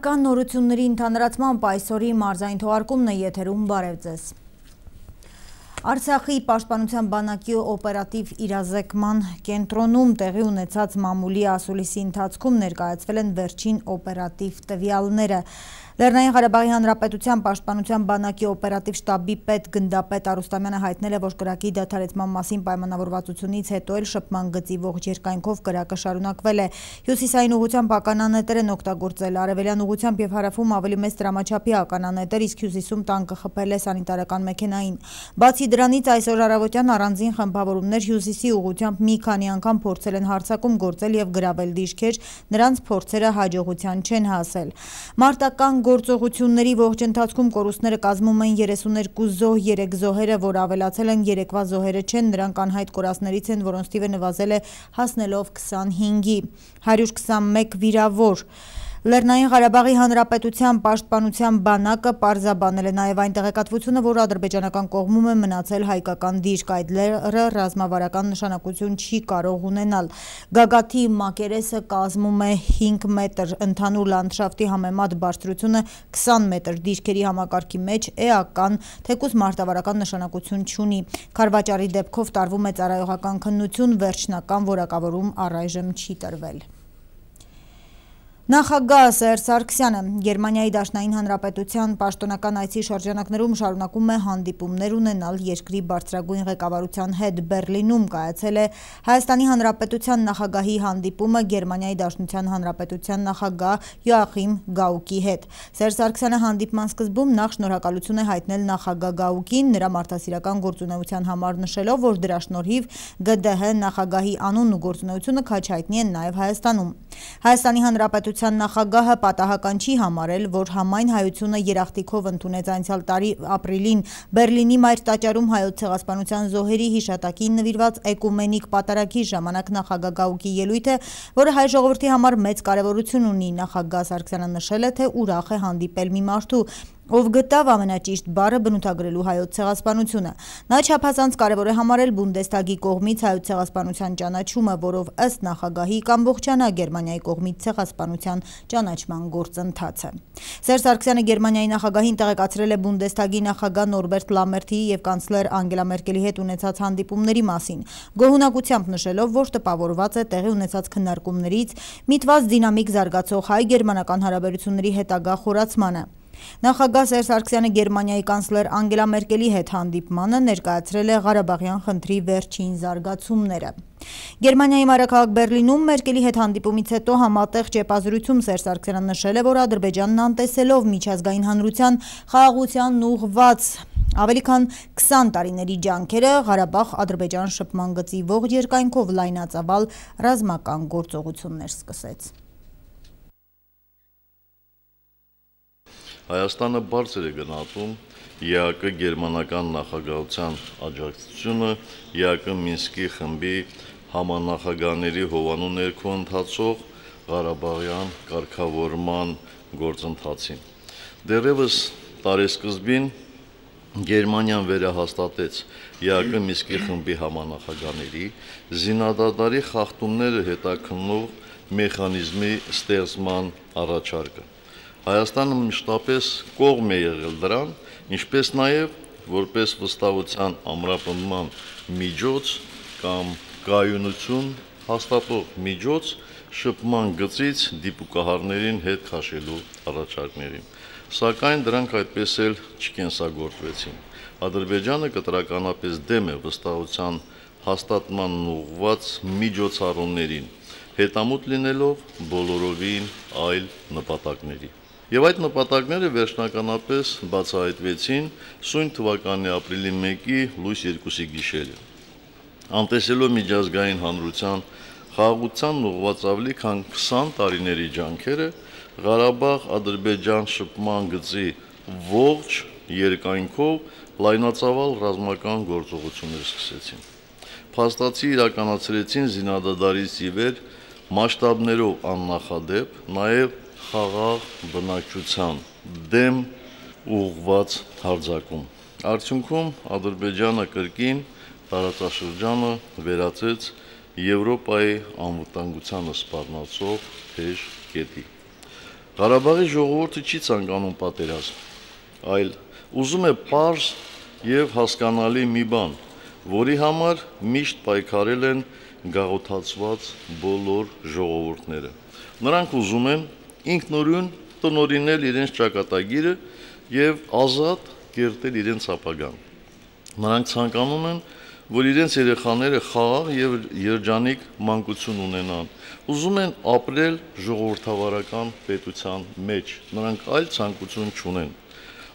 Առկան նորությունների ընդհանրացմամբ այսօրի մարզային թողարկումն է եթերում, բարև ձեզ։ Արցախի պաշտպանության բանակի օպերատիվ իրազեկման կենտրոնում տեղի ունեցած մամուլի ասուլիսի ընթացքում ներկայացվել են վերջին օպերատիվ տվյալները։ Լեռնային Ղարաբաղի Հանրապետության պաշտպանության բանակի օպերատիվ շտաբի պետ գնդապետ Արուստամյանը հայտնել է, որ կրակի դադարեցման մասին պայմանավորվածությունից հետո էլ շփման գծի ողջ երկայնքով կրակը շարունակվել է։ Հյուսիսային ուղղությամբ ականանետեր են օգտագործել, արևելյան ուղղությամբ եւ հարավում ավելի մեծ տրամաչափի ականանետեր, իսկ հյուսիսում տանկը խփել է սանիտարական մեքենային։ Բացի դրանից այսօր առավոտյան առանձին խմբավորումներ հյուսիսի ուղղությամբ մի քանի անգամ փորձել են հարձակում գործել եւ գրավել դիրքեր, նրանց փորձերը հաջողության չեն հասել։ Մարտական գործողությունների ողջ ընթացքում կորուստները կազմում են 32 զոհ, 3 զոհերը, որ ավելացել են երեկվա զոհերը չեն, նրանք անհայտ կորածներից են, որոնց թիվը նվազել է հասնելով 25-ի, 121 վիրավոր։ Լեռնային Ղարաբաղի Հանրապետության պաշտպանության բանակը պարզաբանել է նաև այն տեղեկատվությունը, որ ադրբեջանական կողմում է մնացել հայկական դիրք, այդ լեռը ռազմավարական նշանակություն չի կարող ունենալ։ Գագաթի մակերեսը կազմում է 5 մետր, ընդհանուր լանդշաֆտի համեմատ բարձրությունը 20 մետր, դիրքերի համակարգի մեջ էական, թեկուզ մարտավարական նշանակություն չունի։ Քարվաճառի դեպքով տարվում է ծառայողական քննություն, վերջնական որակավորում առայժմ չի տրվել։ Նախագահ Սերժ Սարգսյանը Գերմանիայի Դաշնային Հանրապետության պաշտոնական այցի շրջանակներում շարունակում է հանդիպումներ ունենալ երկրի բարձրագույն ղեկավարության հետ։ Բեռլինում կայացել է Հայաստանի Հանրապետության նախագահի հանդիպումը Գերմանիայի Դաշնության Հանրապետության նախագահ Յոախիմ Գաուկի հետ։ Սերժ Սարգսյանը հանդիպման սկզբում նախ շնորհակալություն է հայտնել նախագահ Գաուկին նրա մարդասիրական գործունեության համար, նշելով, որ դրա շնորհիվ ԳԴՀ նախագահի անունն ու գործունեությունը քաջ հայտնի են նաև Հայաստանում։ Հայաստանի Հանրապետության նախագահը պատահական չի համարել, որ համայն հայությունը երախտիկով ընդունեց անցյալ տարի ապրիլին Բեռլինի մայր տաճարում հայոց ցեղասպանության զոհերի հիշատակին նվիրված էկումենիկ պատարագի ժամանակ նախագահ Գաուկի ելույթը, որը հայ ժողովրդի համար մեծ կարևորություն ունի։ Նախագահ Սարգսյանը նշել է, թե ուրախ է հանդիպել մի մարդու, ով գտավ ամենաճիշտ բառը բնութագրելու հայոց ցեղասպանությունը։ Նա չափազանց կարևոր է համարել Բունդեսթագի կողմից հայոց ցեղասպանության ճանաչումը, որով ըստ նախագահի կամբողջանա Գերմանիայի կողմից ցեղասպանության ճանաչման գործընթացը։ Սերժ Սարգսյանը Գերմանիայի նախագահին տեղեկացրել է Բունդեսթագի նախագահ Նորբերտ Լամերթի եւ կանցլեր Անգելա Մերկելի հետ ունեցած հանդիպումների մասին, գոհունակությամբ նշելով, որ տպավորված է տեղի ունեցած քննարկումներից միտված դինամիկ զարգացող հայ-գերմանական հարաբերությունների հետագա խորացմանը։ Նախագահ Սերժ Սարգսյանը Գերմանիայի կանցլեր Անգելա Մերկելի հետ հանդիպմանը ներկայացրել է Ղարաբաղյան խնդրի վերջին զարգացումները։ Գերմանիայի մայրաքաղաք Բեռլինում Մերկելի հետ հանդիպումից հետո համատեղ ճեպազրույցում Սերժ Սարգսյանը նշել է, որ Ադրբեջանն անտեսելով միջազգային հանրության խաղաղությանն ուղղված ավելի քան 20 տարիների ջանքերը, Ղարաբաղ-Ադրբեջան շփման գծի ողջ երկայնքով լայնածավալ ռազմական գործողություններ սկսեց։ Հայաստանը բարձր է գնահատում ԵԱԿ գերմանական նախագահության աջակցությունը ԵԱԿ Մինսկի խմբի համանախագահների հովանու ներքո ընթացող Ղարաբաղյան կարգավորման գործընթացին։ Դեռևս տարեսկզբին Գերմանիան վերահաստատեց ԵԱԿ Մինսկի խմբի համանախագահների զինադադարի խախտումները հետաքննող մեխանիզմի ստեղծման առաջարկը։ Հայաստանը մշտապես կողմ է եղել դրան, ինչպես նաև որպես վստահության ամրապնդման միջոց կամ կայունություն հաստատող միջոց շփման գծից դիպուկահարներին հետ քաշելու առաջարկներին։ Սակայն դրանք այդպես էլ չկենսագործվեցին։ Ադրբեջանը կտրականապես դեմ է վստահության հաստատմանն ուղղված միջոցառումներին, հետամուտ լինելով բոլորովին այլ նպատակների։ Եվ այդ նպատակները վերջնականապես բացահայտվեցին սույն թվականի ապրիլի 1-ի լույս 2-ի գիշերը։ Անտեսելով միջազգային հանրության խաղաղությանն ուղղված ավելի քան 20 տարիների ջանքերը, Ղարաբաղ-Ադրբեջան շփման գծի ողջ երկայնքով լայնածավալ ռազմական գործողություններ սկսեցին։ Փաստացի իրականացրեցին զինադադարից ի վեր մասշտաբներով աննախադեպ, նաև խաղաղ բնակչության դեմ ուղղված հարձակում։ Արդյունքում Ադրբեջանը կրկին տարածաշրջանը վերածեց Եվրոպայի անվտանգությանը սպառնացող թեժ կետի։ Ղարաբաղի ժողովուրդը չի ցանկանում պատերազմ, այլ ուզում է պարզ եւ հասկանալի մի բան, որի համար միշտ պայքարել են գաղութացված բոլոր ժողովուրդները։ Նրանք ուզում են ինքնուրույն տնօրինել իրենց ճակատագիրը եւ ազատ կերտել իրենց ապագան։ Նրանք ցանկանում են, որ իրենց երեխաները խաղաղ եւ երջանիկ մանկություն ունենան, ուզում են ապրել ժողովրդավարական պետության մեջ, նրանք այլ ցանկություն չունեն։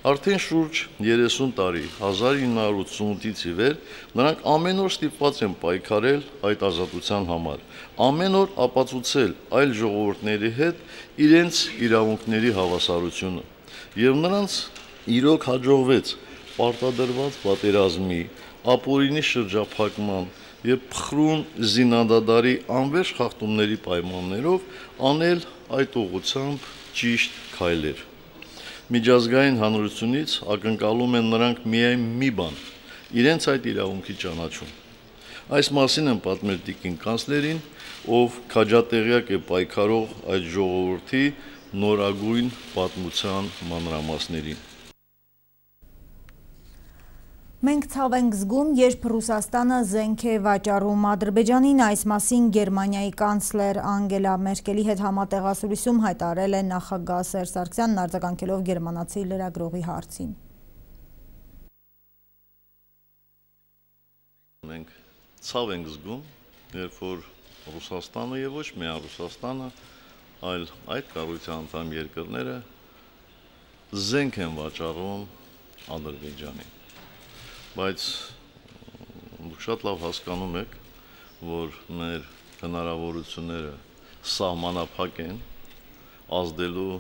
Արդեն շուրջ 30 տարի, 1988-ից ի վեր, նրանք ամեն օր ստիպված են պայքարել այդ ազատության համար, ամեն օր ապացուցել այլ ժողովուրդների հետ իրենց իրավունքների հավասարությունը, եւ նրանց իրոք հաջողվեց պարտադրված պատերազմի, ապօրինի շրջափակման եւ փխրուն զինադադարի անվերջ խախտումների պայմաններով անել այդ ուղղությամբ ճիշտ քայլեր։ Միջազգային հանրությունից ակնկալում են նրանք միայն մի բան՝ իրենց այդ իրավունքի ճանաչում։ Այս մասին են պատմել տիկին կանցլերին, ով քաջատեղյակ է պայքարող այդ ժողովրդի նորագույն պատմության մանրամասներին։ Մենք ցավ ենք զգում, երբ Ռուսաստանը զենք է վաճառում Ադրբեջանին, այս մասին Գերմանիայի կանցլեր Անգելա Մերկելի հետ համատեղասուրիսում հայտարարել է նախագահ Սերժ Սարգսյանն արձագանքելով գերմանացի լրագրողի հարցին։ Մենք ցավ ենք զգում, երբ որ Ռուսաստանը եւ ոչ միայն Ռուսաստանը, այլ այդ կառույցի անդամ երկրները զենք են վաճառում Ադրբեջանին։ Բայց դուք շատ լավ հասկանում եք, որ մեր հնարավորությունները սահմանափակ են ազդելու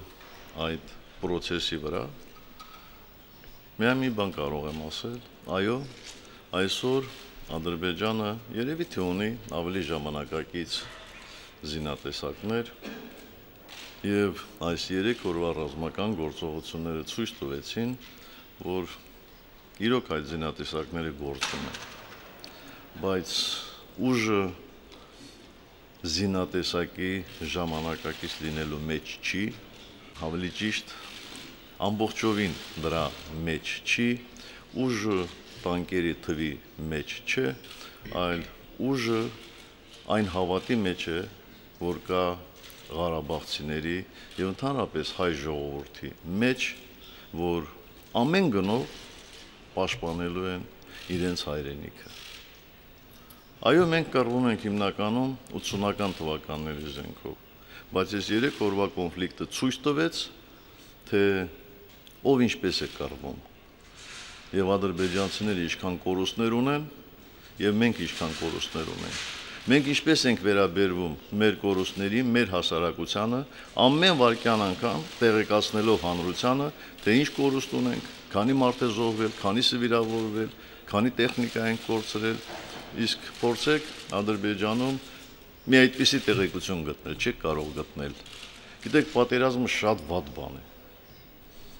այդ process-ի վրա։ Միայն մի բան կարող եմ ասել, այո, այսօր Ադրբեջանը երևի թե ունի ավելի ժամանակակից զինատեսակներ եւ այս 3 օրվա ռազմական գործողությունները ցույց տվեցին, որ իրոք այդ զինատեսակները գործում են, բայց ուժը զինատեսակի ժամանակակից լինելու մեջ չի, ավելի ճիշտ ամբողջովին դրա մեջ չի, ուժը տանկերի թվի մեջ չէ, այլ ուժը այն հավատի մեջ է, որ կա ղարաբաղցիների եւ ընդհանրապես հայ ժողովրդի մեջ, որ ամեն գնով պաշտպանելու են իրենց հայրենիքը։ Այո, մենք կռվում ենք հիմնականում 80-ական թվականների զենքով, բայց այս 3 օրվա կոնֆլիկտը ցույց տվեց, թե ով ինչպես է կռվում, եւ ադրբեջանցիները ինչքան կորուստներ ունեն, եւ մենք ինչքան կորուստներ ունենք։ Մենք ինչպես ենք վերաբերվում մեր կորուստներին, մեր հասարակությանը, ամեն վայրկյան անգամ տեղեկացնելով հանրությանը, թե ինչ կորուստ ունենք, քանի մարդ է զոհվել, քանիսը վիրավորվել, քանի տեխնիկա են կորցրել, իսկ փորձեք Ադրբեջանում մի այդպիսի տեղեկություն գտնել, չեք կարող գտնել։ Գիտեք, պատերազմը շատ վատ բան է։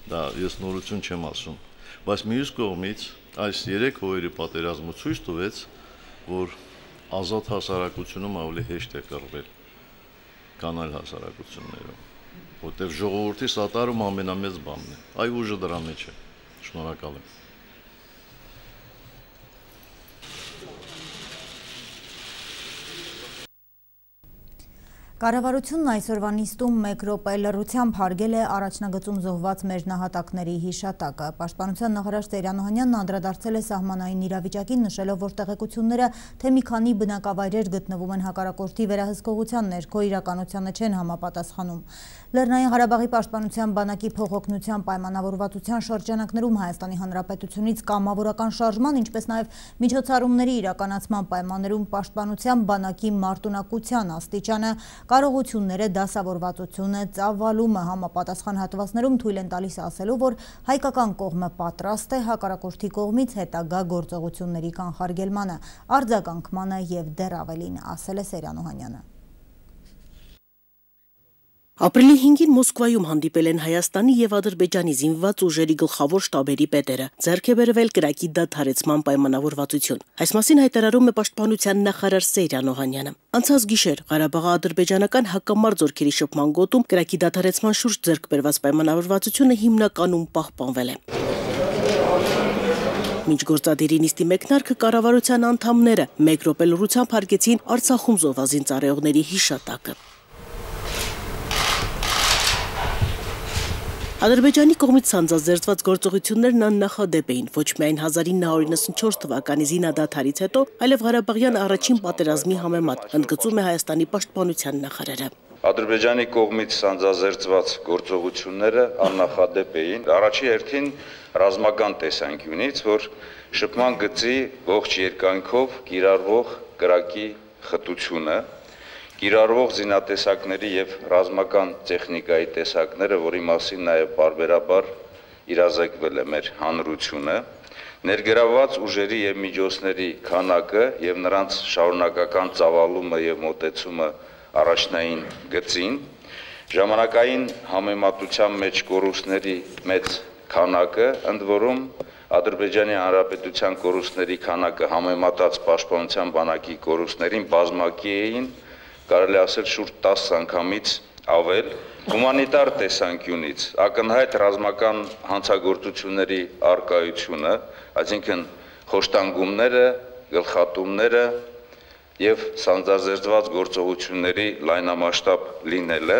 Դա ես նորություն չեմ ասում, բայց մյուս կողմից այս 3 օրերի պատերազմը ցույց տվեց, որ ազատ հասարակությունում ավելի հեշտ է կռվել, քան այլ հասարակություններում, որտեղ ժողովրդի սատարում ամենամեծ բանն է, այ ուժը դրա մեջ է։ Շնորհակալ եմ։ Կառավարությունն այսօրվա նիստում 1 րոպե լռությամբ հարգել է առաջնագծում զոհված մեր նահատակների հիշատակը։ Պաշտպանության նախարար Տերյան Օհանյանն անդրադարձել է սահմանային իրավիճակին, նշելով, որ տեղեկությունները, թե մի քանի բնակավայրեր գտնվում են հակառակորդի վերահսկողության ներքո, իրականությանը չեն համապատասխանում։ Լեռնային Ղարաբաղի պաշտպանության բանակի փոխօգնության պայմանավորվածության շրջանակներում Հայաստանի Հանրապետությունից կամավորական շարժման, ինչպես նաև միջոցառումների իրականացման պայմաններում պաշտպանության բանակի մարտունակության աստիճանը, կարողությունները, դասավորվածությունը, ծավալումը համապատասխան հատվածներում թույլ են տալիս ասելու, որ հայկական կողմը պատրաստ է հակառակորդի կողմից հետագա գործողությունների կանխարգելմանը, արձագանքմանը եւ դեռ ավելին, ասել է Սերյան Օհանյանը։ Ապրիլի 5-ին Մոսկվայում հանդիպել են Հայաստանի եւ Ադրբեջանի զինված ուժերի գլխավոր շտաբերի պետերը։ Ձեռք է բերվել կրակի դադարեցման պայմանավորվածություն։ Այս մասին հայտարարում է Պաշտպանության նախարար Սեյրան Օհանյանը։ Անցած գիշեր Ղարաբաղի ադրբեջանական հակամարտ զորքերի շփման գոտում կրակի դադարեցման շուրջ ձեռք բերված պայմանավորվածությունը հիմնականում պահպանվել է։ Մինչ գործադիրի նիստի մեկնարկը կառավարության անդամները մեկ րոպե լռությամբ հարգեցին Արցախում զոհվածին ծառայողների հիշատակը։ Ադրբեջանի կողմից ցանցազերծված գործողություններն աննախադեպ էին ոչ միայն 1994 թվականի զինադադարից հետո, այլև Ղարաբաղյան առաջին պատերազմի համեմատ, ընդգծում է Հայաստանի պաշտպանության նախարարը։ Ադրբեջանի կողմից ցանցազերծված գործողությունները աննախադեպ էին, առաջի հերթին ռազմական տեսանկյունից, որ շփման գծի ողջ երկայնքով կիրառվող կրակի խտությունը, կիրառվող զինատեսակների եւ ռազմական տեխնիկայի տեսակները, որի մասին նաեւ բարբերաբար իրազեկվել է մեր հանրությունը, ներգրավված ուժերի եւ միջոցների քանակը եւ նրանց շարունակական ծավալումը եւ մոտեցումը առաջնային գծին, ժամանակային համեմատության մեջ կորուստների մեծ քանակը, ընդ որում Ադրբեջանի Հանրապետության կորուստների քանակը համեմատած Պաշտպանության բանակի կորուստներին բազմակի էին, կարելի ասել շուրջ 10 անգամից ավել, հումանիտար տեսանկյունից ակնհայտ ռազմական հանցագործությունների արկայությունը, այսինքն խոշտանգումները, գլխատումները եւ ցանցազերծված գործողությունների լայնամասշտաբ լինելը։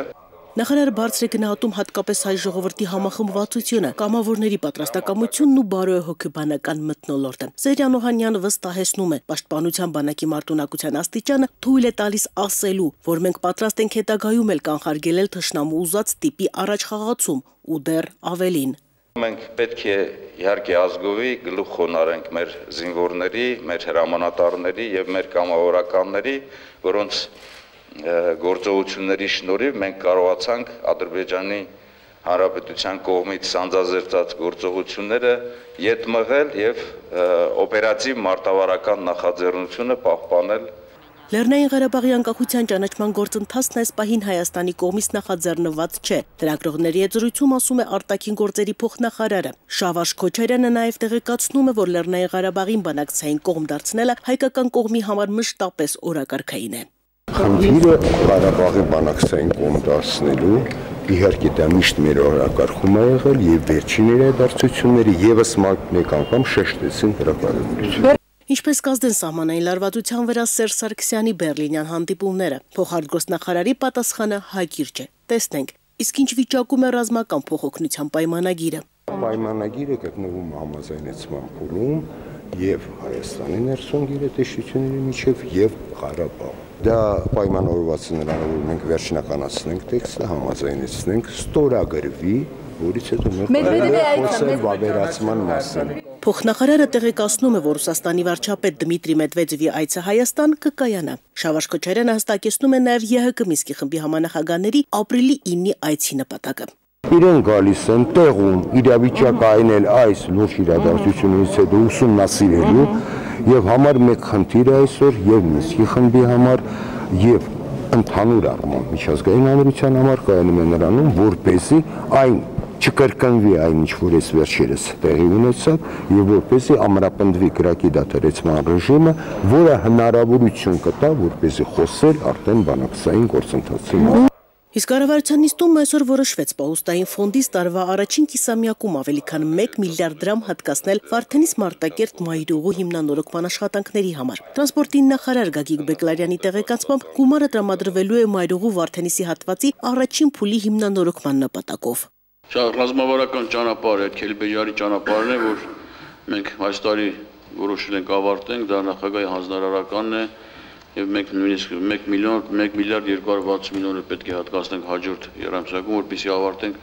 Նախարարը բարձր է գնահատում հատկապես հայ ժողովրդի համախմբվածությունը, կամավորների պատրաստակամությունն ու բարոյահոգեբանական մթնոլորտը։ Սեյրան Օհանյանը վստահեցնում է, Պաշտպանության բանակի մարտունակության աստիճանը թույլ է տալիս ասելու, որ մենք պատրաստ ենք հետագայում էլ կանխարգելել թշնամու ուզած տիպի առաջխաղացում ու դեռ ավելին։ Մենք պետք է իհարկե ազգովի գլուխ խոնարհենք մեր զինվորների, մեր հրամանատարների եւ մեր կամավորականների, որոնց գործողությունների շնորհիվ մենք կարողացանք Ադրբեջանի Հանրապետության կողմից ցանցազերծած գործողությունները յետ մղել եւ օպերատիվ մարտավարական նախաձեռնությունը պահպանել։ Լեռնային Ղարաբաղի անկախության ճանաչման գործընթացն այս պահին Հայաստանի կողմից նախաձեռնված չէ։ Լրագրողների հետ զրույցում ասում է արտաքին գործերի փոխնախարարը։ Շավարժ Քոչարյանը նաև տեղեկացնում է, որ Լեռնային Ղարաբաղին բանակցային կողմ դարձնելը հայկական կողմի համար մշտապես օրակարգային է։ Խնդիրը Ղարաբաղի բանակցային կողմ դարձնելու իհարկե դա միշտ մեր օրակարգում է եղել եւ վերջին իրադարձությունները եւս մեկ անգամ շեշտեցին դրա կարևորությունը։ Ինչպես կազդեն սահմանային լարվածության վրա Սերժ Սարգսյանի բերլինյան հանդիպումները, փոխարտգործնախարարի պատասխանը հակիրճ է։ Տեսնենք, իսկ ինչ վիճակում է ռազմական փոխօգնության պայմանագիրը։ Պայմանագիրը գտնվում է համաձայնեցման փուլում եւ Հայաստանի ներսում գերատեսչությունների միջև եւ Ղարաբաղ։ Դա պայմանավորված է նրանով, որ մենք վերջնականացնենք տեքստը, համաձայնեցնենք, ստորագրվի, որից հետո մենք խոսել վավերացման մասին։ Փոխնախարարը տեղեկացնում է, որ Ռուսաստանի վարչապետ Դմիտրի Մեդվեդևի այցը Հայաստան կկայանա։ Շավարժ Քոչարյանը հստակեցնում է նաև ԵՀԿ Մինսկի խմբի համանախագահների ապրիլի 9-ի այցի նպատակը։ Իրեն գալիս են տեղում իրավիճակը այնել այս լուրջ իրադարձությունից հետո ուսումնասիրելու եւ համար մեկ խնդիր է այսօր եւ Մինսկի խմբի համար եւ ընդհանուր առմամբ միջազգային հանրության համար կայանում է նրանում, որպեսզի այն չկրկնվի այն ինչ որ այս վերջերս տեղի ունեցավ եւ որպեսզի ամրապնդվի կրակի դադարեցման ռեժիմը, որը հնարավորություն կտա որպեսզի խոսել արդեն բանակցային գործընթացի մասին։ Իսկ կառավարության նիստում այսօր որոշվեց Պահուստային ֆոնդից տարվա առաջին կիսամյակում ավելի քան 1 միլիարդ դրամ հատկացնել Վարդենիս Մարտակերտ մայրուղու հիմնանորոգման աշխատանքների համար։ Տրանսպորտի նախարար Գագիկ Բեկլարյանի տեղեկացմամբ գումարը տրամադրվելու է մայրուղու Վարդենիսի հատվածի առաջին փուլի հիմնանորոգման նպատակով։ Ռազմավարական ճանապարհը, Քելբեջարի ճանապարհն է, որ մենք այս տարի որոշել ենք ավարտենք, դա նախագահի հանձնարարականն է եւ մենք նույնիսկ 1 միլիարդ 260 միլիոն պետք է հատկացնենք հաջորդ երամսյակում, որպեսզի ավարտենք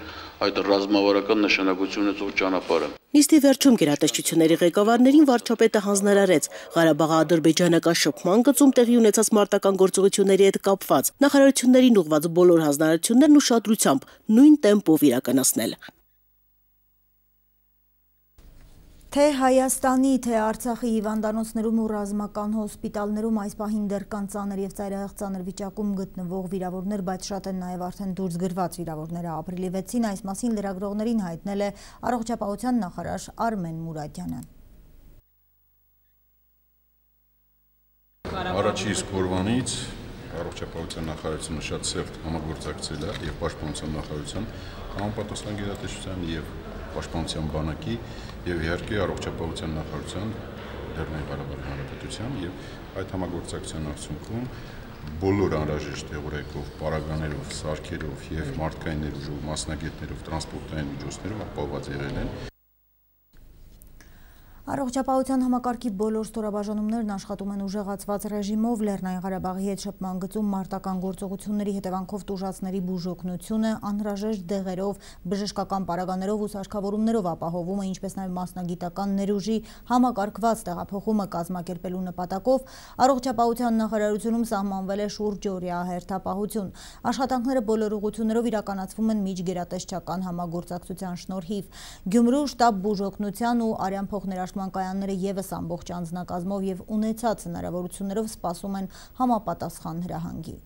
այդ ռազմավարական նշանակություն ունեցող ճանապարհը։ Նիստի վերջում գերատեսչությունների ղեկավարներին վարչապետը հանձնարարեց Ղարաբաղ-ադրբեջանական շփման գծում տեղի ունեցած մարտական գործողությունների հետ կապված նախարարություններին ուղղված բոլոր հանձնարարություններն ուշադրությամբ նույն տեմպով իրականացնել։ Թե Հայաստանի, թե Արցախի հիվանդանոցներում ու ռազմական հոսպիտալներում այս պահին դեռ կան ծանր եւ ծայրահեղ ծանր վիճակում գտնվող վիրավորներ, բայց շատ են նաեւ արդեն դուրս գրված վիրավորները։ Ապրիլի 6-ին այս մասին լրագրողներին հայտնել է Առողջապահության նախարար Արմեն Մուրադյանը։ Առաջի իսկ օրվանից Առողջապահության նախարարությունը շատ սերտ համագործակցել է եւ Պաշտպանության նախարարության համապատասխան գերատեսչության եւ Պաշտպանության բանակի եւ իհարկե Առողջապահության նախարարության Լեռնային Ղարաբաղի Հանրապետության եւ այդ համագործակցության արդյունքում բոլոր անհրաժեշտ տեղորայքով, պարագաներով, սարքերով եւ մարդկային ներուժով, մասնագետներով, տրանսպորտային միջոցներով ապահովված եղել են։ Առողջապահության համակարգի բոլոր ստորաբաժանումներն աշխատում են ուժեղացված ռեժիմով, Լեռնային Ղարաբաղի հետ շփման գծում մարտական գործողությունների հետևանքով տուժածների բուժօգնությունը անհրաժեշտ դեղերով, բժշկական պարագաներով ու սարքավորումներով ապահովումը, ինչպես նաև մասնագիտական ներուժի համակարգված տեղափոխումը կազմակերպելու նպատակով Առողջապահության նախարարությունում սահմանվել է շուրջօրյա հերթապահություն։ Աշխատանքները բոլոր ուղղություններով իրականացվում են միջգերատեսչական համագործակցության շնորհիվ։ Գյումրու շտաբ բուժօգնության ու արյան փոխներաշ կայանները եւս ամբողջ անձնակազմով եւ ունեցած հնարավորություններով սպասում են համապատասխան հրահանգի։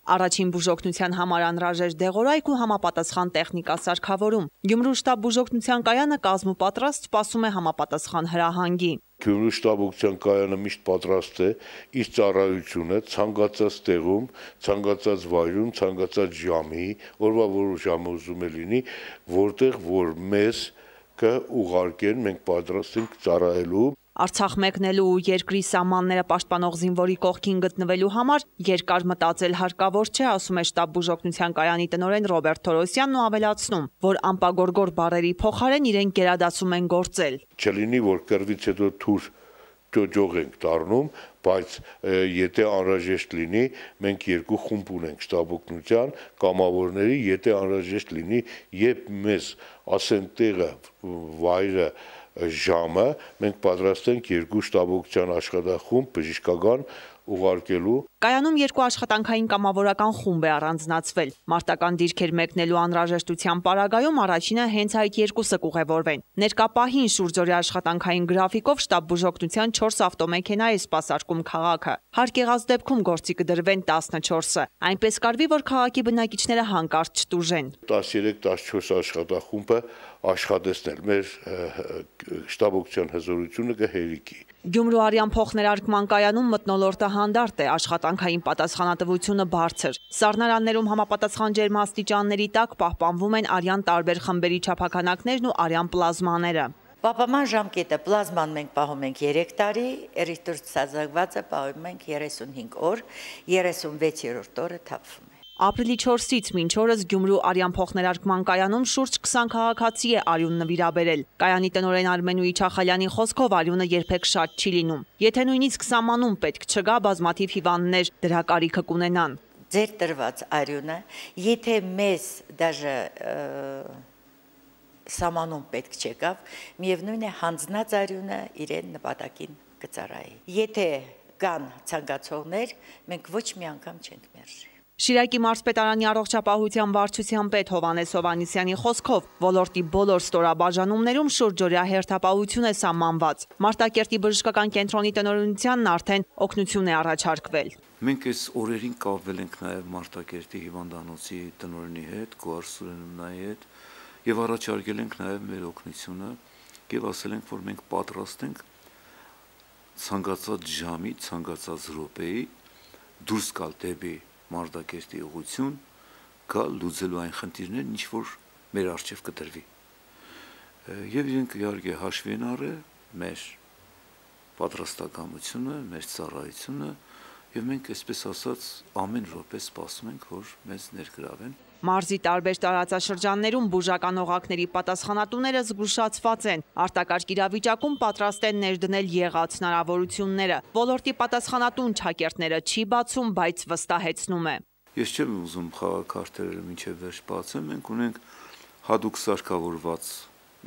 Առաջին բուժօգնության համար անհրաժեշտ դեղորայք ու համապատասխան տեխնիկա սարքավորում։ Գյումրու շտաբ բուժօգնության կայանը կազմուպատրաստ սպասում է համապատասխան հրահանգի։ Գյումրու շտաբօգնության կայանը միշտ պատրաստ է իր ծառայությունը ցանկացած տեղում, ցանկացած վայրում, ցանկացած ժամի, օրվա որոշ ժամը ուզում է լինի, որտեղ որ մեզ կուղարկեն, մենք պատրաստ ենք ծառայելու։ Արցախ մեկնելու ու երկրի սահմանները պաշտպանող զինվորի կողքին գտնվելու համար երկար մտածել հարկավոր չէ, ասում է շտաբ բուժօգնության կայանի տնօրեն Ռոբերտ Թորոսյանն ու ավելացնում, որ անպագորգոր բառերի փոխարեն իրենք գերադասում են գործել։ Չլինի, որ կռվից հետո թուր ճոճող ենք դառնում, բայց եթե անհրաժեշտ լինի, մենք երկու խումբ ունենք շտաբօգնության կամավորների, եթե անհրաժեշտ լինի, երբ մեզ ասեն տեղը, վայրը, ժամը, մենք պատրաստ ենք երկու շտաբօգնության աշխատախումբ բժշկական ուղարկելու։ Կայանում երկու աշխատանքային կամավորական խումբ է առանձնացվել։ Մարտական դիրքեր մեկնելու անհրաժեշտության պարագայում առաջինը հենց այդ երկուսը կուղևորվեն։ Ներկա պահին շուրջօրյա աշխատանքային գրաֆիկով շտաբ բուժօգնության 4 ավտոմեքենա է սպասարկում քաղաքը։ Հարկ եղած դեպքում գործի կդրվեն 14-ը։ Այնպես կարվի, որ քաղաքի բնակիչները հանկարծ չտուժեն։ 13-14 աշխատախումբը աշխատեցնել մեր շտաբօգնության հզորությունը կհերիքի։ Գյումրու արյան փոխներարկման կայանում մթնոլորտը հանդարտ է, աշխատանքային պատասխանատվությունը բարձր։ Սառնարաններում համապատասխան ջերմաստիճանների տակ պահպանվում են արյան տարբեր խմբերի չափաքանակներն ու արյան պլազմաները։ Պահպանման ժամկետը պլազման մենք պահում ենք 3 տարի, էրիթրոցիտազանգվածը պահում ենք 35 օր, 36-րդ օրը թափվում է։ Ապրիլի 4-ից մինչ օրս Գյումրու արյան փոխներարկման կայանում շուրջ 20 քաղաքացի է արյուն նվիրաբերել։ Կայանի տնօրեն Արմեն Իչախալյանի խոսքով արյունը երբեք շատ չի լինում։ Եթե նույնիսկ սահմանում պետք չգա, բազմաթիվ հիվանդներ դրա կարիքը կունենան։ Ձեր տրված արյունը, եթե մեզ դաժե սահմանում պետք չեկավ, միևնույն է հանձնած արյունը իրեն նպատակին կծառայի։ Եթե կան ցանկացողներ, մենք ոչ մի անգամ չենք մերժի։ Շիրակի մարզպետարանի առողջապահության վարչության պետ Հովհաննես Հովհաննիսյանի խոսքով ոլորտի բոլոր ստորաբաժանումներում շուրջօրյա հերթապահություն է սահմանված։ Մարտակերտի բժշկական կենտրոնի տնօրինությանն արդեն օգնություն է առաջարկվել։ Մենք այս օրերին կապվել ենք նաև Մարտակերտի հիվանդանոցի տնօրենի հետ, Գոհար Սուրեննայի հետ, եւ առաջարկել ենք նաև մեր օգնությունը եւ ասել ենք, որ մենք պատրաստ ենք ցանկացած ժամի, ցանկացած րոպեի դուրս գալ դեպի Մարտակերտի ուղղություն, գալ լուծելու այն խնդիրներն, ինչ որ մեր առջև կտրվի։ Եվ իրենք իհարկե հաշվի են առել մեր պատրաստակամությունը, մեր ծառայությունը, եւ մենք այսպես ասած ամեն րոպե սպասում ենք, որ մեզ ներգրավեն։ Մարզի տարբեր տարածաշրջաններում բուժական օղակների պատասխանատուները զգուշացված են, արտակարգ իրավիճակում պատրաստ են ներդնել եղած հնարավորությունները։ Ոլորտի պատասխանատուն ճակերտները չի բացում, բայց վստահեցնում է։ Ես չեմ ուզում խաղաքարտերը մինչև վերջ բացեմ, մենք ունենք հատուկ սարքավորված,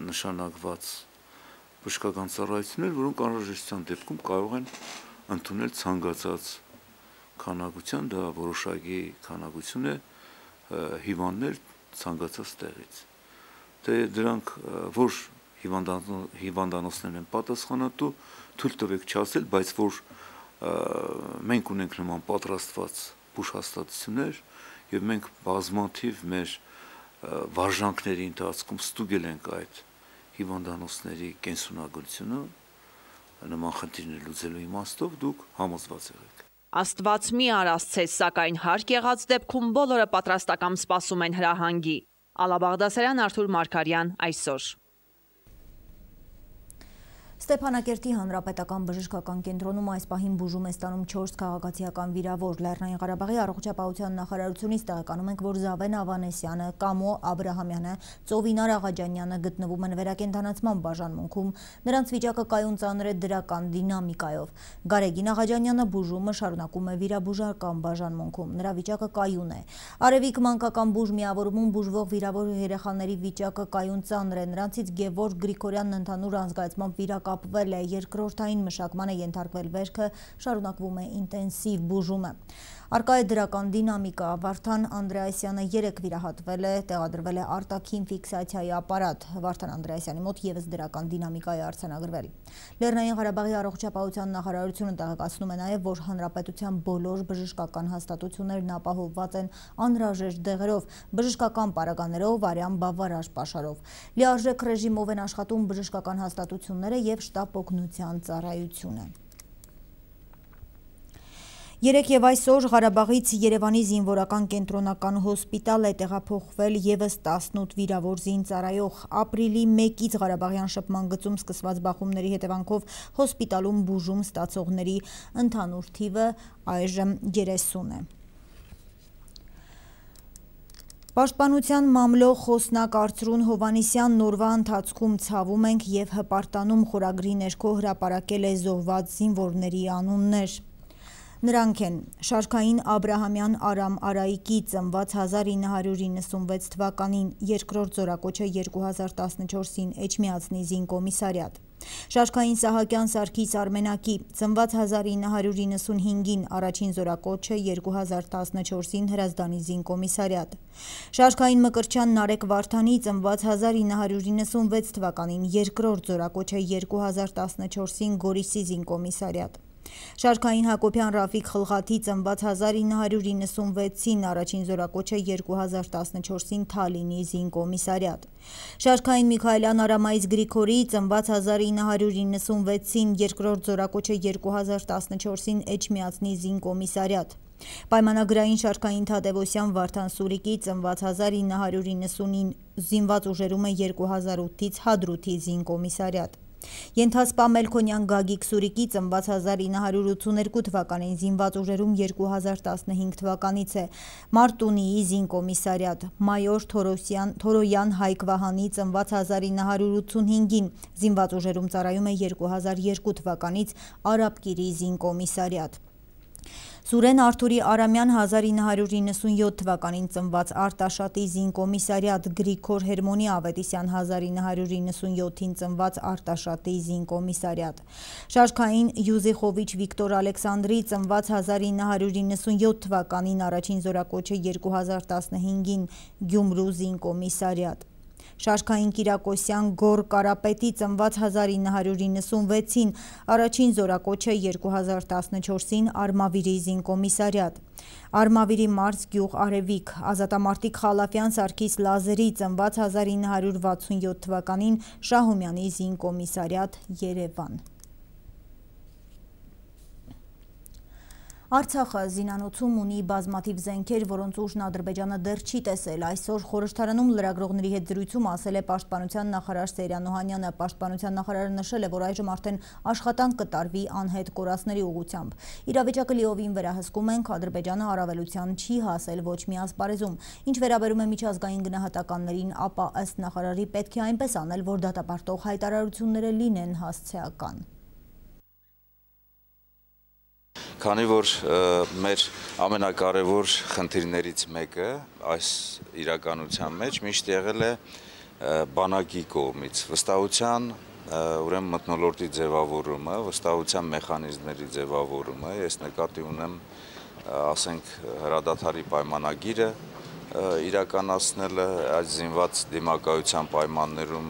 նշանակված բժշկական ծառայություններ, որոնք անհրաժեշտության դեպքում կարող են ընդունել ցանկացած քանակության, դա որոշակի քանակություն է հիվանդներ ցանկացած տեղից։ Թե դրանք որ հիվանդանոցներն են պատասխանատու, թույլ տվեք չասել, բայց որ մենք ունենք նման պատրաստված բուժհաստատություններ եւ մենք բազմաթիվ մեր վարժանքների ընթացքում ստուգել ենք այդ հիվանդանոցների կենսունագործությունը, նման խնդիրներ լուծելու իմաստով դուք համոզված եղեք։ Աստված մի արասցես, սակայն հարկ եղած դեպքում բոլորը պատրաստական սպասում են հրահանգի։ Ալա Բաղդասարյան, Արթուր Մարգարյան, այսօր։ Ստեփանակերտի հանրապետական բժշկական կենտրոնում այս պահին բուժում է ստանում 4 քաղաքացիական վիրավոր։ Լեռնային Ղարաբաղի առողջապահության նախարարությունից տեղեկանում ենք, որ Զավեն Ավանեսյանը, Կամո Աբրահամյանը, Ծովինար Աղաջանյանը գտնվում են վերակենդանացման բաժանմունքում։ Նրանց վիճակը կայուն ծանր է դրական դինամիկայով։ Գարեգին Աղաջանյանը բուժումը շարունակում է վիրաբուժական բաժանմունքում։ Նրա վիճակը կայուն է։ Արևիկ մանկական բուժ միավորումում բուժվող վիրավոր երեխաների վիճակը կայուն ծանր է։ Նրանցից Գևորգ Գրիգորյանն ընդհանուր անզգայացմամբ կապվել է, երկրորդային մշակման է ենթարկվել վերքը, շարունակվում է ինտենսիվ բուժումը։ Արկա է դրական դինամիկա, Վարդան Անդրեասյանը 3 վիրահատվել է, տեղադրվել է արտաքին ֆիքսացիայի ապարատ, Վարդան Անդրեասյանի մոտ ևս դրական դինամիկա է արձանագրվել։ Լեռնային Ղարաբաղի առողջապահության նախարարությունը տեղեկացնում է նաև, որ հանրապետության բոլոր բժշկական հաստատություններն ապահովված են անհրաժեշտ դեղերով, բժշկական պարագաներով, արյան բավարար պաշարով։ Լիարժեք ռեժիմով են աշխատում բժշկական հաստատությունները և շտապ օգնության ծառայությունը։ Երեկ և այսօր Ղարաբաղից Երևանի զինվորական կենտրոնական հոսպիտալ է տեղափոխվել ևս 18 վիրավոր զինծառայող։ Ապրիլի 1-ից Ղարաբաղյան շփման գծում սկսված բախումների հետևանքով հոսպիտալում բուժում ստացողների ընդհանուր թիվը այժմ 30 է։ Պաշտպանության մամլո խոսնակ Արծրուն Հովհաննիսյանն օրվա ընթացքում ցավում ենք և հպարտանում խորագրի ներքո հրապարակել է զոհված զինվորների անուններ։ Նրանք են Շարքային Աբրահամյան Արամ Արայիկի ծնված 1996 թվականին, երկրորդ զորակոչը 2014-ին Էջմիածնի զինկոմիսարիատ։ Շարքային Սահակյան Սարգիս Արմենակի ծնված 1995-ին, առաջին զորակոչը 2014-ին Հրազդանի զինկոմիսարիատ։ Շարքային Մկրտչյան Նարեկ Վարդանի ծնված 1996 թվականին, երկրորդ զորակոչը 2014-ին Գորիսի զինկոմիսարիատ։ Շարքային Հակոբյան Ռաֆիկ Խլղաթի ծնված 1996-ին, առաջին զորակոչը 2014-ին Թալինի զինկոմիսարիատ։ Շարքային Միքայելյան Արամայից Գրիգորի ծնված 1996-ին, երկրորդ զորակոչը 2014-ին Էջմիածնի զինկոմիսարիատ։ Պայմանագրային Շարքային Թադևոսյան Վարդան Սուրիկի ծնված 1990-ին, զինված ուժերում է 2008-ից Հադրութի զինկոմիսարիատ։ Ենթասպա Մելքոնյան Գագիկ Սուրիկի ծնված 1982 թվականին, զինված ուժերում 2015 թվականից է, Մարտունիի զինկոմիսարիատ։ Մայոր Թորոյան Հայկ Վահանի ծնված 1985-ին, զինված ուժերում ծառայում է 2002 թվականից, Արաբկիրի զինկոմիսարիատ։ Սուրեն Արթուրի Արամյան 1997 թվականին ծնված, Արտաշատի զինկոմիսարիատ։ Գրիգոր Հերմոնի Ավետիսյան 1997-ին ծնված, Արտաշատի զինկոմիսարիատ։ Շարքային Յուզիխովիչ Վիկտոր Ալեքսանդրի ծնված 1997 թվականին, առաջին զորակոչը 2015-ին Գյումրու զինկոմիսարիատ։ Շարքային Կիրակոսյան Գոր Կարապետի ծնված 1996-ին, առաջին զորակոչը 2014-ին Արմավիրի զինկոմիսարիատ։ Արմավիրի մարզ գյուղ Արևիկ։ Ազատամարտիկ Խալափյան Սարգիս Լազերի ծնված 1967 թվականին, Շահումյանի զինկոմիսարիատ, Երևան։ Արցախը զինանոցում ունի բազմաթիվ զենքեր, որոնց ուժն Ադրբեջանը դեռ չի տեսել։ Այսօր խորհրդարանում լրագրողների հետ զրույցում ասել է Պաշտպանության նախարար Սեյրան Օհանյանը։ Պաշտպանության նախարարը նշել է, որ այժմ արդեն աշխատանք կտարվի անհետ կորածների ուղղությամբ։ Իրավիճակը լիովին վերահսկում ենք, Ադրբեջանը առավելության չի հասել ոչ մի ասպարեզում։ Ինչ վերաբերում է միջազգային գնահատականներին, ապա ըստ նախարարի պետք է այնպես անել, որ դատապարտող հայտարարությունները լինեն հասցեական։ Քանի որ մեր ամենակարևոր խնդիրներից մեկը այս իրականության մեջ միշտ եղել է բանակի կողմից վստահության, ուրեմն մթնոլորտի ձևավորումը, վստահության մեխանիզմների ձևավորումը, ես նկատի ունեմ, ասենք, հրադադարի պայմանագիրը, իրականացնելը, այս զինված դիմակայության պայմաններում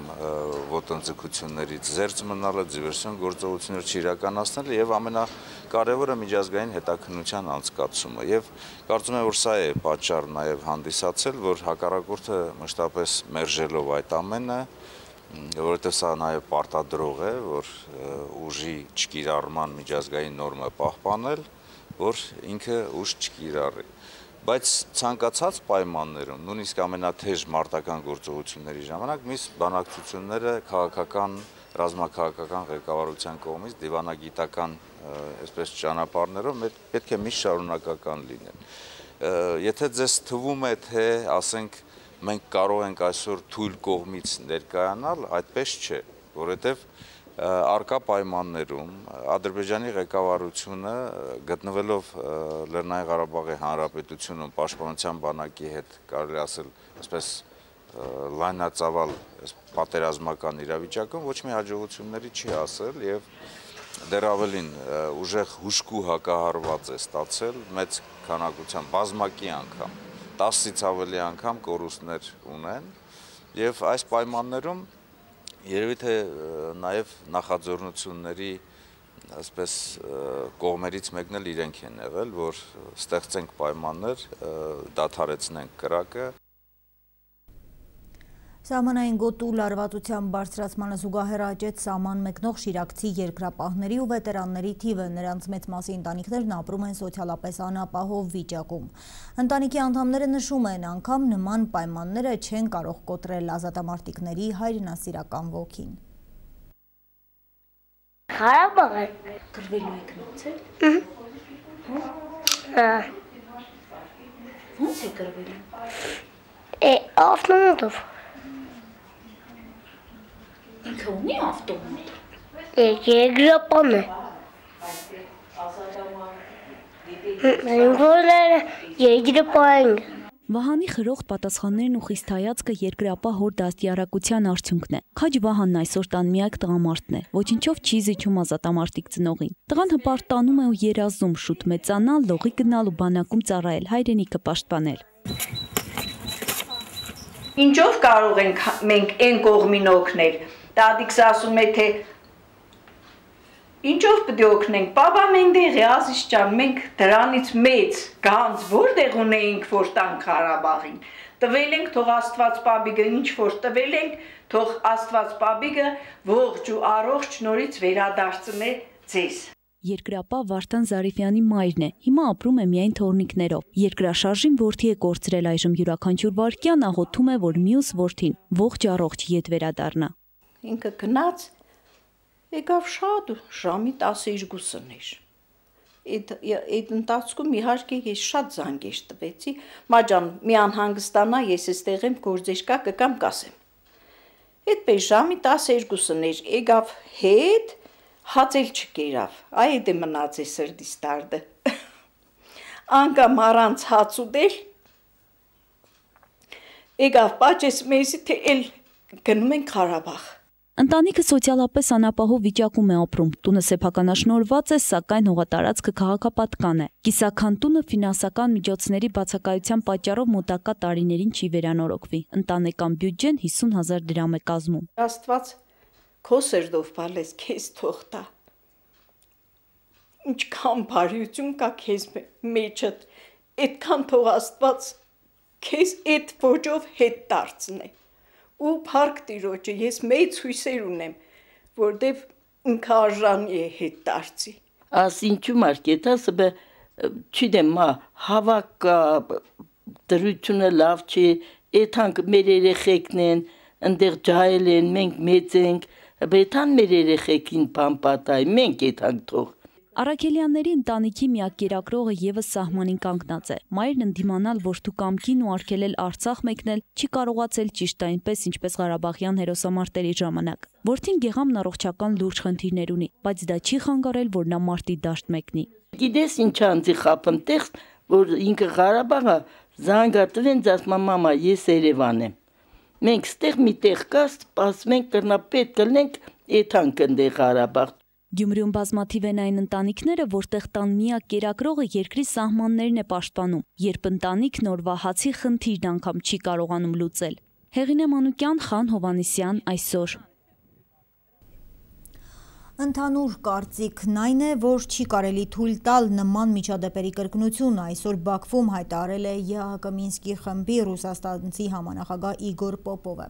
ոտնձգություններից զերծ մնալը, դիվերսիոն գործողություններ չիրականացնելը եւ ամենակարևորը միջազգային հետաքննության անցկացումը։ Եվ կարծում եմ, որ սա է պատճառը նաեւ հանդիսացել, որ հակառակորդը մշտապես մերժելով այդ ամենը, որովհետեւ սա նաեւ պարտադրող է, որ ուժի չկիրառման միջազգային նորմը պահպանել, որ ինքը ուժ չկիրառի։ Բայց ցանկացած պայմաններում, նույնիսկ ամենաթեժ մարտական գործողությունների ժամանակ միս բանակցությունները քաղաքական, ռազմաքաղաքական ղեկավարության կողմից դիվանագիտական այսպես ճանապարհներով պետք է միշտ շարունակական լինեն։ Եթե ձեզ թվում է, թե ասենք մենք կարող ենք այսօր թույլ կողմից ներկայանալ, այդպես չէ, որովհետև արկա պայմաններում Ադրբեջանի ղեկավարությունը գտնվելով Լեռնային Ղարաբաղի Հանրապետությունում պաշտպանության բանակի հետ կարելի ասել այսպես լայնածավալ պատերազմական իրավիճակում ոչ մի հաջողությունների չի ասել եւ դեռ ավելին ուժեղ հուժկու հակահարված է ստացել մեծ քանակությամբ բազմակի անգամ 10-ից ավելի անգամ կորուստներ ունեն եւ այս պայմաններում երևի թե նաև նախաձեռնությունների այսպես կողմերից մեկն էլ իրենք են եղել, որ ստեղծենք պայմաններ, դադարեցնենք կրակը։ Սահմանային գոտու լարվածության բարձրացմանը զուգահեռ աճեց սահման մեկնող շիրակցի երկրապահների ու վետերանների թիվը, նրանց մեծ մասի ընտանիքներն ապրում են սոցիալապես անապահով վիճակում։ Ընտանիքի անդամները նշում են, անգամ նման պայմանները չեն կարող կոտրել ազատամարտիկների հայրենասիրական ոգին։ Ղարաբաղը գրվելու եք նոցել։ Ո՞նց է գրվելու։ Ավտոմատով։ Ինքը ունի ավտոմատ։ Երկրապահն է։ Ինքորները երկրապահ են։ Վահանի խրոխտ պատասխաններն ու խիստ հայացքը երկրապահ հոր դաստիարակության արդյունքն է։ Քաջ Վահանն այսօր տան միակ տղամարդն է, ոչինչով չի զիջում ազատամարտիկ ծնողին։ Տղան հպարտ տանում է ու երազում շուտ մեծանալ, լողի գնալ ու բանակում ծառայել, հայրենիքը պաշտպանել։ Ինչով կարող ենք մենք այն կողմին օգնել։ Տատիկս ասում է, թե ինչով պետք է օգնենք, պապա մենտեղի ասիչ ջան, մենք դրանից մեծ գանձ որտեղ ունեինք, որ տանք Ղարաբաղին, տվել ենք, թող Աստված պապիկը ինչ որ տվել ենք, թող Աստված պապիկը ողջ ու առողջ նորից վերադարձնե ձեզ։ Երկրապահ Վարդան Զարիֆյանի մայրն է, հիմա ապրում է միայն թոռնիկներով։ Երկրաշարժին որդի է կորցրել, այժմ յուրաքանչյուր վայրկյան աղոթում է, որ մյուս որդին ողջ առողջ ետ վերադառնա։ Ինքը գնաց, եկավ շատ ժամի 12-ն էր։ Այդ ընթացքում իհարկե ես շատ զանգեր տվեցի, մաջան մի անհանգստանա, ես էստեղ եմ, գործեր կա, կգամ կասեմ։ Այդպես ժամի 12-ն էր, եկավ հետ, հացել չկերավ, այդ է մնաց է սրտիս դարդը։ Անգամ առանց հաց ուտել, եկավ պաճես մեզի, թե էլ գնում ենք Ղարաբաղ։ Ընտանիքը սոցիալապես անապահով վիճակում է ապրում, տունը սեփականաշնորհված է, սակայն հողատարածքը քաղաքապատկան է։ Կիսաքան տունը ֆինանսական միջոցների բացակայության պատճառով մոտակա տարիներին չի վերանորոգվի։ Ընտանեկան բյուջեն 50,000 դրամ է կազմում։ Աստված քո սրտով բալես քեզ թող տա։ Ինչքան բարիություն կա քեզ մեջդ, այդքան թող Աստված քեզ այդ ոճով հետ դարձնի։ Ու փառք Տիրոջը, ես մեծ հույսեր ունեմ, որտեվ ինքը արժանի է հետ դարձի։ Աս ինչու մարկետասը բը չդեմ մա հավաք դրությունը լավ չի, այդանք մեր երեխեքն են, ընդեղ ջահել են, մենք մեծ ենք, բեթան մեր երեխեքին բան պատայ, մենք այդանք թող։ Արաքելյանների ընտանիքի միակ կերակրողը եւս սահմանին կանգնած է։ Մայրն ընդդիմանալ որդու կամքին ու արգելել Արցախ մեկնել չի կարողացել ճիշտ այնպես, ինչպես Ղարաբաղյան հերոսամարտերի ժամանակ։ Որդին գեղամն առողջական լուրջ խնդիրներ ունի, բայց դա չի խանգարել, որ նա մարտի դաշտ մեկնի։ Գիտես ինչ անձի խափեմ տեղ, որ ինքը Ղարաբաղը զանգատվեն ասում մամա, ես Երևան եմ։ Մենք ստեղ մի տեղ կա, սպասում ենք կրնա պետք կլնենք այդանք ընդեղ Ղարաբաղ։ Գյումրիում բազմաթիվ են այն ընտանիքները, որտեղ տան միակ կերակրողը երկրի սահմաններն է պաշտպանում, երբ ընտանիքն օրվա հացի խնդիրն անգամ չի կարողանում լուծել։ Հեղինե Մանուկյան, Խան Հովանեսյան, այսօր։ Ընդհանուր կարծիքն այն է, որ չի կարելի թույլ տալ նման միջադեպերի կրկնություն, այսօր Բաքվում հայտարարել է ԵԱՀԿ Մինսկի խմբի ռուսաստանցի համանախագահ Իգոր Պոպովը։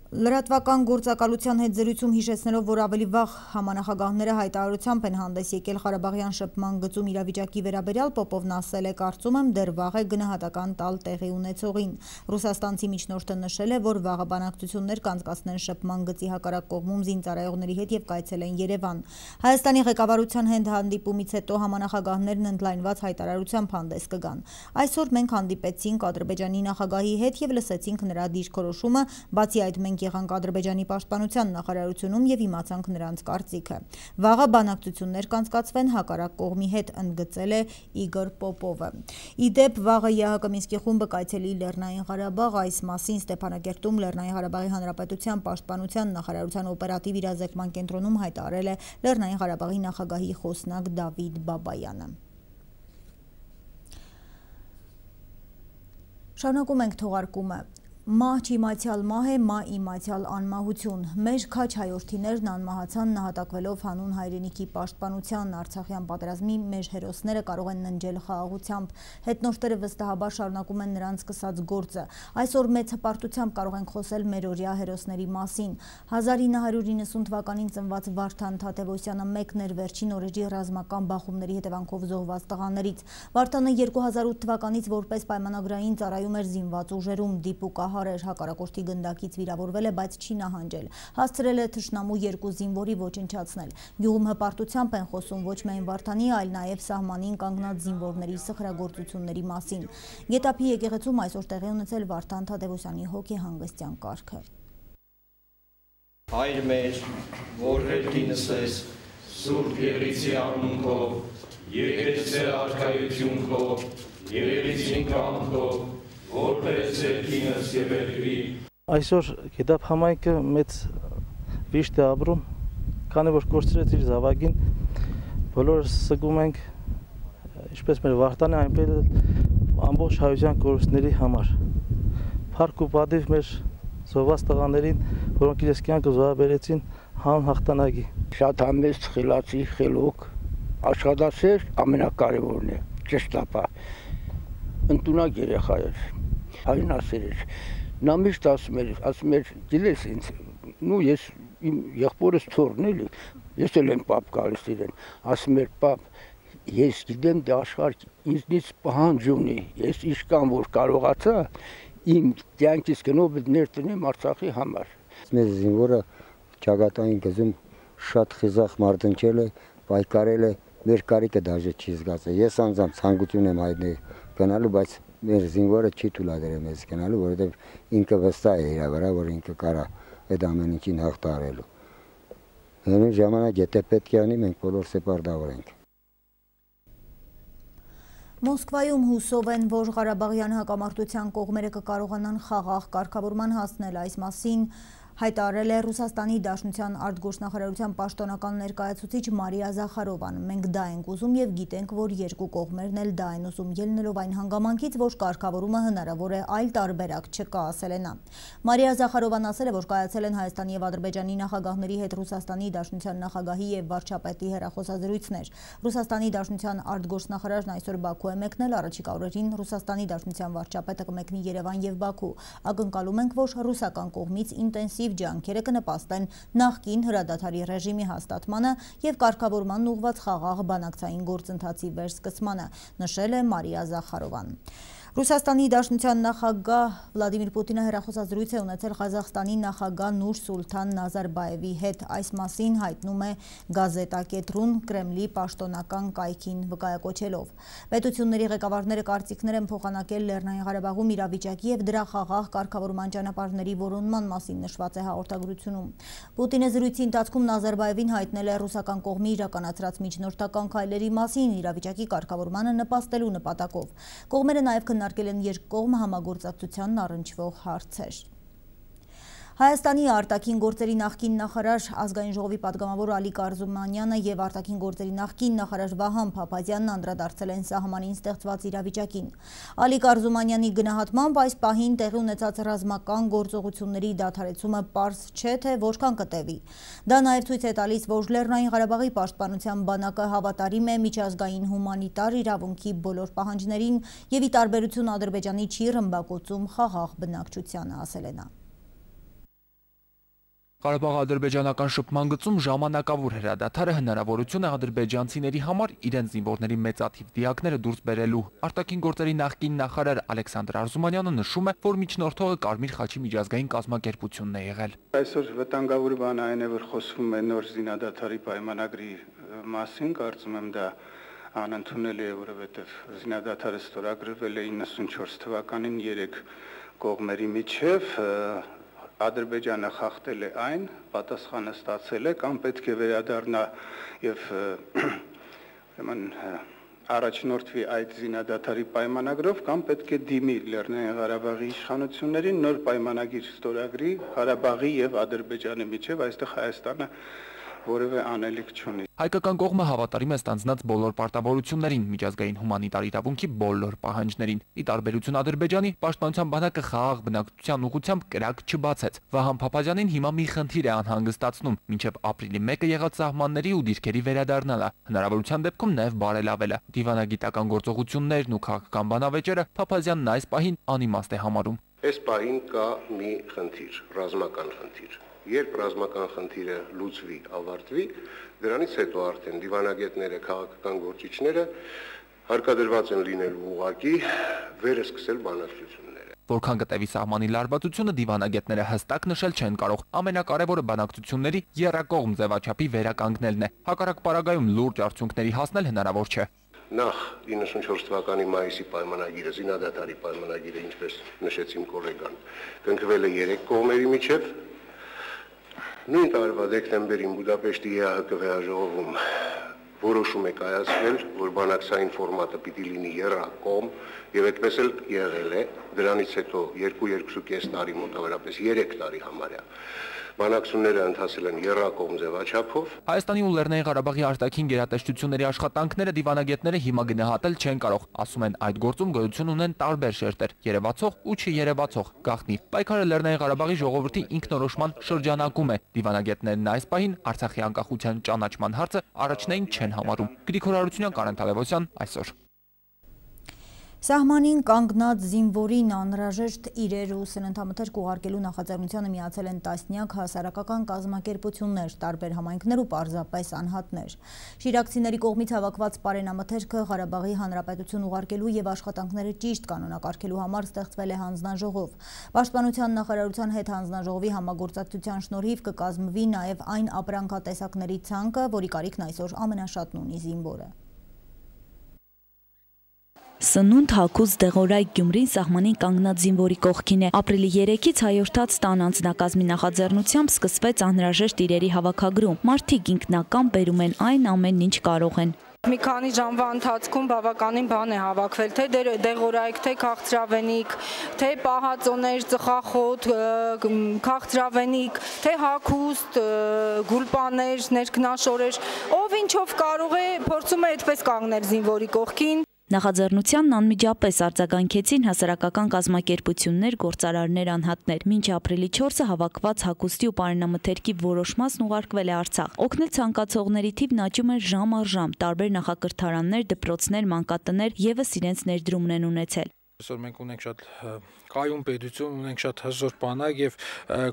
Լրատվական գործակալության հետ զրույցում հիշեցնելով, որ ավելի վաղ համանախագահները հայտարարությամբ են հանդես եկել Ղարաբաղյան շփման գծում իրավիճակի վերաբերյալ, Պոպովն ասել է, կարծում եմ դեռ վաղ է գնահատական տալ տեղի ունեցողին։ Ռուսաստանցի միջնորդը նշել է, որ վաղը բանակցություններ կանցկացնեն շփման գծի հակառակ կողմում զինծառայողների հետ եւ կայցելեն Երևան։ Հայաստանի ղեկավարության հետ հանդիպումից հետո համանախագահներն ընդլայնված հայտարարությամբ հանդես կգան։ Այսօր մենք հանդիպեցինք Ադրբեջանի նախագահի հետ եւ լսեցինք նրա դիրքորոշումը, բացի այդ մենք եղանք Ադրբեջանի պաշտպանության նախարարությունում եւ իմացանք նրանց կարծիքը։ Վաղը բանակցություններ կանցկացվեն հակառակ կողմի հետ, ընդգծել է Իգոր Պոպովը։ Իդեպ վաղը ԵԱՀԿ Մինսկի խումբը կայցելի Լեռնային Ղարաբաղ, այս մասին Ստեփանակերտում Լեռնային Ղարաբաղի Հանրապետության պաշտպանության նախարարության օպերատիվ իրազեկման կենտրոնում հայտարարել է Լեռնային Ղարաբաղի նախագահի խոսնակ Դավիթ Բաբայանը։ Շարունակում ենք թողարկումը։ Մահ չիմացյալ մահ է, մահ իմացյալ անմահություն։ Մեր քաչ հայորդիներն անմահացան նահատակվելով հանուն հայրենիքի պաշտպանության, Արցախյան պատերազմի մեր հերոսները կարող են ննջել խաղաղությամբ, հետնորդները վստահաբար շարունակում են նրանց սկսած գործը։ Այսօր մեծ հպարտությամբ կարող ենք խոսել մերօրյա հերոսների մասին։ 1990 թվականին ծնված Վարդան Թադևոսյանը մեկն էր վերջին օրերի ռազմական բախումների հետևանքով զոհված տղաներից։ Վարդանը 2008 թվականից որպես պայմանագրային ծառայում էր զինված ուժերում, դիպուկահար էր, հակառակորդի գնդակից վիրավորվել է, բայց չի նահանջել։ Հասցրել է թշնամու 2 զինվորի ոչնչացնել։ Գյուղում հպարտությամբ են խոսում ոչ միայն Վարդանի, այլ նաև սահմանին կանգնած զինվորների սխրագործությունների մասին։ Գետափի եկեղեցում այսօր տեղի ունեցել Վարդան Թադևոսյանի հոգեհանգստյան կարգը։ Հայր մեր, որ հետինս ես, Սուրբ Եղրիցի անունքով, եկեցե արքայություն քո, Եղրիցին կամքով, որպես երկինս եւ երկրի։ Այսօր Գետափ համայնքը մեծ վիշտ է ապրում, քանի որ կորցրեց իր զավակին, բոլորս սգում ենք, ինչպես մեր Վարդանը, այնպես ամբողջ հայության կորուստների համար։ Փառք ու պատիվ մեր զոհված տղաներին, որոնք իրենց կյանքը զոհաբերեցին հանուն հաղթանակի։ Շատ համեստ, խելացի, խելոք, աշխատասեր ամենակարևորն է, ճշտապահ, ընդունակ երեխա էր, հայրենասեր էր։ Նա միշտ ասում էր, գիտես ինձ, ես իմ եղբորս թորն էլի, ես էլ եմ պապ գալիս իրեն, ասում էր պապ, ես գիտեմ դե աշխարհ ինձնից պահանջ ունի, ես իշքան որ կարողացա իմ կյանքից գնով ներտնեմ Արցախի համար։ Մեր զինվորը ճակատային գծում շատ խիզախ մարտնչել է, պայքարել է, մեր կարիքը դաժե չի զգացել։ Ես անձամբ ցանկություն եմ հայտնել գնալու, բայց մեր զինվորը չի թույլատրել մեզ գնալու, որովհետև ինքը վստահ է իր վրա, որ ինքը կարա այդ ամեն ինչին հաղթահարելու։ Հենց ժամանակ եթե պետք է անի, մենք բոլոր սեպարդավորենք։ Մոսկվայում հուսով են, որ Ղարաբաղյան հակամարտության կողմերը կկարողանան խաղաղ կարգավորման հասնել, այս մասին հայտարարել է Ռուսաստանի Դաշնության արտգործնախարարության պաշտոնական ներկայացուցիչ Մարիա Զախարովան։ Մենք դա ենք ուզում եւ գիտենք, որ երկու կողմերն էլ դա են ուզում, ելնելով այն հանգամանքից, որ կարգավորումը հնարավոր է, այլ տարբերակ չկա, ասել է նա։ Մարիա Զախարովան ասել է, որ կայացել են Հայաստանի եւ Ադրբեջանի նախագահների հետ Ռուսաստանի Դաշնության նախագահի եւ վարչապետի հեռախոսազրույցներ։ Ռուսաստանի Դաշնության արտգործնախարարն այսօր Բաքու է մեկնել, առաջիկա օրերին Ռուսաստանի Դաշնության վարչապետը կմեկնի Երևան եւ Բաքու։ Ակնկալում ենք, որ ռուսական կողմից ինտենսիվ ջանքերը կնպաստեն նախկին հրադադարի ռեժիմի հաստատմանը եւ կարգավորման ուղղված խաղաղ բանակցային գործընթացի վերսկսմանը, նշել է Մարիա Զախարովան։ Ռուսաստանի Դաշնության նախագահ Վլադիմիր Պուտինը հեռախոսազրույց է ունեցել Ղազախստանի նախագահ Նուր-Սուլթան Նազարբաևի հետ, այս մասին հայտնում է Գազետա.ru-ն Կրեմլի պաշտոնական կայքին վկայակոչելով։ Պետությունների ղեկավարները կարծիքներ են փոխանակել Լեռնային Ղարաբաղում իրավիճակի եւ դրա խաղաղ կարգավորման ճանապարհների որոնման մասին, նշված է հաղորդագրությունում։ Պուտինը զրույցի ընթացքում Նազարբաևին հայտնել է ռուսական կողմի իրականացրած միջնորդական քայլերի մասին իրավիճակի կարգավորմանը նպաստելու նպատակով։ Կողմերը նաև քննարկել են երկկողմ համագործակցությանն առնչվող հարցեր։ Հայաստանի արտաքին գործերի նախկին նախարար ազգային ժողովի պատգամավոր Ալիկ Արզումանյանը եւ արտաքին գործերի նախկին նախարար Վահան Փափազյանն անդրադարձել են սահմանին ստեղծված իրավիճակին։ Ալիկ Արզումանյանի գնահատմամբ այս պահին տեղի ունեցած ռազմական գործողությունների դադարեցումը պարզ չէ, թե որքան կտևի։ Դա նաեւ ցույց է տալիս, որ Լեռնային Ղարաբաղի պաշտպանության բանակը հավատարիմ է միջազգային հումանիտար իրավունքի բոլոր պահանջներին եւ ի տարբերություն Ադրբեջանի չի ռմբակոծում խաղաղ բնակչությանը, ասել է նա։ Ղարաբաղ-ադրբեջանական շփման գծում ժամանակավոր հրադադարը հնարավորություն է ադրբեջանցիների համար իրենց զինվորների մեծաթիվ դիակները դուրս բերելու։ Արտաքին գործերի նախկին նախարար Ալեքսանդր Արզումանյանը նշում է, որ միջնորդողը Կարմիր խաչի միջազգային կազմակերպությունն է եղել։ Այսօր վտանգավոր բանը այն է, որ խոսվում է նոր զինադադարի պայմանագրի մասին, կարծում եմ դա անընդունել է, որովհետև զինադադարը ստորագրվել է 94 թվականին 3 կողմերի միջև, Ադրբեջանը խախտել է այն, պատասխանը ստացել է, կամ պետք է վերադառնա եւ առաջնորդվի այդ զինադադարի պայմանագրով, կամ պետք է դիմի Լեռնային Ղարաբաղի իշխանություններին նոր պայմանագիր ստորագրի Ղարաբաղի եւ Ադրբեջանի միջև, այստեղ Հայաստանը որևէ անելիք չունի։ Հայկական կողմը հավատարիմ է ստանձնած բոլոր պարտավորություններին, միջազգային հումանիտար իրավունքի բոլոր պահանջներին։ Ի տարբերություն Ադրբեջանի, պաշտպանության բանակը խաղաղ բնակչության ուղղությամբ կրակ չբացեց։ Վահան Փափազյանին հիմա մի խնդիր է անհանգստացնում, մինչև ապրիլի 1-ը եղած սահմանների ու դիրքերի վերադառնալը, հնարավորության դեպքում նաև բարելավելը։ Դիվանագիտական գործողություններն ու քաղաքական բանավեճերը Փափազյանն այս պահին անիմաստ է համարում։ Այս պահին կա մի խնդիր, ռազմական խնդիր։ Երբ ռազմական խնդիրը լուծվի, ավարտվի, դրանից հետո արդեն դիվանագետները, քաղաքական գործիչները հարկադրված են լինելու ուղղակի վերսկսել բանակցությունները։ Որքան կտևի սահմանի լարվածությունը դիվանագետները հստակ նշել չեն կարող։ Ամենակարևորը բանակցությունների եռակողմ ձևաչափի վերականգնելն է։ Հակառակ պարագայում լուրջ արդյունքների հասնել հնարավոր չէ։ Նախ 94 թվականի մայիսի պայմանագիրը, զինադադարի պայմանագիրը, ինչպես նշեց իմ գոլեգան, կնքվել է 3 կողմերի միջև։ Նույն տարվա դեկտեմբերին Բուդապեշտի ԵԱՀԿ վեհաժողովում որոշում է կայացվել, որ բանակցային ֆորմատը պիտի լինի եռակողմ, եւ այդպես էլ եղել է։ Դրանից հետո 2-2.5 տարի, մոտավորապես 3 տարի համարյա բանակցությունները ընթացել են եռակողմ ձևաչափով։ Հայաստանի ու Լեռնային Ղարաբաղի արտաքին գերատեսչությունների աշխատանքները դիվանագետները հիմա գնահատել չեն կարող։ Ասում են, այդ գործում գոյություն ունեն տարբեր շերտեր՝ երևացող ու չերևացող, գաղտնի։ Պայքարը Լեռնային Ղարաբաղի ժողովրդի ինքնորոշման շրջանակում է։ Դիվանագետներն այս պահին Արցախի անկախության ճանաչման հարցը առաջնային չեն համարում։ Գրիգոր Հարությունյան, Կարեն Թադևոսյան, այսօր։ Սահմանին կանգնած զինվորին անհրաժեշտ իրեր ու սննդամթերք ուղարկելու նախաձեռնությանը միացել են տասնյակ հասարակական կազմակերպություններ, տարբեր համայնքներ ու պարզապես անհատներ։ Շիրակցիների կողմից հավաքված պարենամթերքը Ղարաբաղի Հանրապետություն ուղարկելու եւ աշխատանքները ճիշտ կանոնակարգելու համար ստեղծվել է հանձնաժողով։ Պաշտպանության նախարարության հետ հանձնաժողովի համագործակցության շնորհիվ կկազմվի նաեւ այն ապրանքատեսակների ցանկը, որի կարիքն այսօր ամենաշատն ունի զինվորը։ Սնունդ, հագուստ, դեղորայք Գյումրին սահմանին կանգնած զինվորի կողքին է։ Ապրիլի 3-ից հայորդաց տան անձնակազմի նախաձեռնությամբ սկսվեց անհրաժեշտ իրերի հավաքագրում։ Մարդիկ ինքնական բերում են այն ամեն ինչ կարող են։ Մի քանի ժամվա ընթացքում բավականին բան է հավաքվել, թե դեղորայք, թե քաղցրավենիք, թե պահածոներ, ծխախոտ, քաղցրավենիք, թե հագուստ, գուլպաներ, ներքնաշորեր, ով ինչով կարող է, փորձում է այդպես կանգնել զինվորի կողքին։ Նախաձեռնությանն անմիջապես արձագանքեցին հասարակական կազմակերպություններ, գործարարներ, անհատներ։ Մինչ ապրիլի 4-ը հավաքված հագուստի ու պարենամթերքի որոշ մասն ուղարկվել է Արցախ։ Օգնել ցանկացողների թիվն աճում է ժամ առ ժամ։ Տարբեր նախակրթարաններ, դպրոցներ, մանկատներ եւս իրենց ներդրումն են ունեցել։ Այսօր մենք ունենք շատ կայուն պետություն, ունենք շատ հզոր բանակ եւ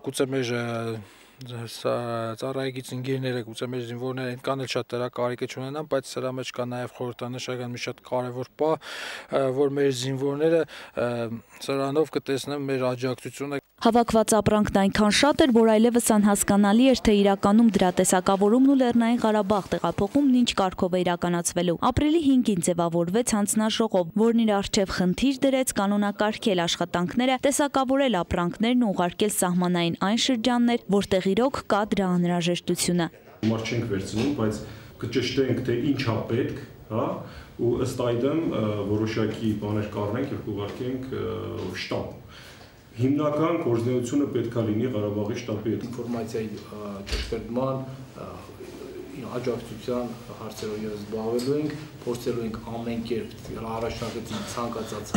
գուցե մեր ծառայեկից ընկերները, գուցե մեր զինվորները այնքան էլ շատ դրա կարիքը չունենան, բայց սրա մեջ կա նաև խորհրդանշական մի շատ կարևոր բան, որ մեր զինվորները սրանով կտեսնեն մեր աջակցությունը։ Հավաքված ապրանքն այնքան շատ էր, որ այլևս անհասկանալի էր, թե իրականում դրա տեսակավորումն ու Լեռնային Ղարաբաղ տեղափոխումն ինչ կարգով է իրականացվելու։ Ապրիլի 5-ին ձևավորվեց հանձնաժողով, որն իր առջև խնդիր դրեց կանոնակարգել աշխատանքները, տեսակավորել ապրանքներն ու ուղարկել սահմանային այն շրջաններ, որտեղ իրոք կա դրա անհրաժեշտությունը։ Մարդ չենք վերցնում, բայց կճշտենք, թե ինչ է պետք, հա, ու ըստ այդմ որոշակի բաներ կառնենք եւ կուղարկենք շտաբ։ հիմնական գործունեությունը պետք է լինի Ղարաբաղի շտաբի հետ։ Ինֆորմացիայի ճշտման աջակցության հարցերով ես զբաղվելու ենք, փորձելու ենք ամեն կերպ առաջնագծի ցանկացած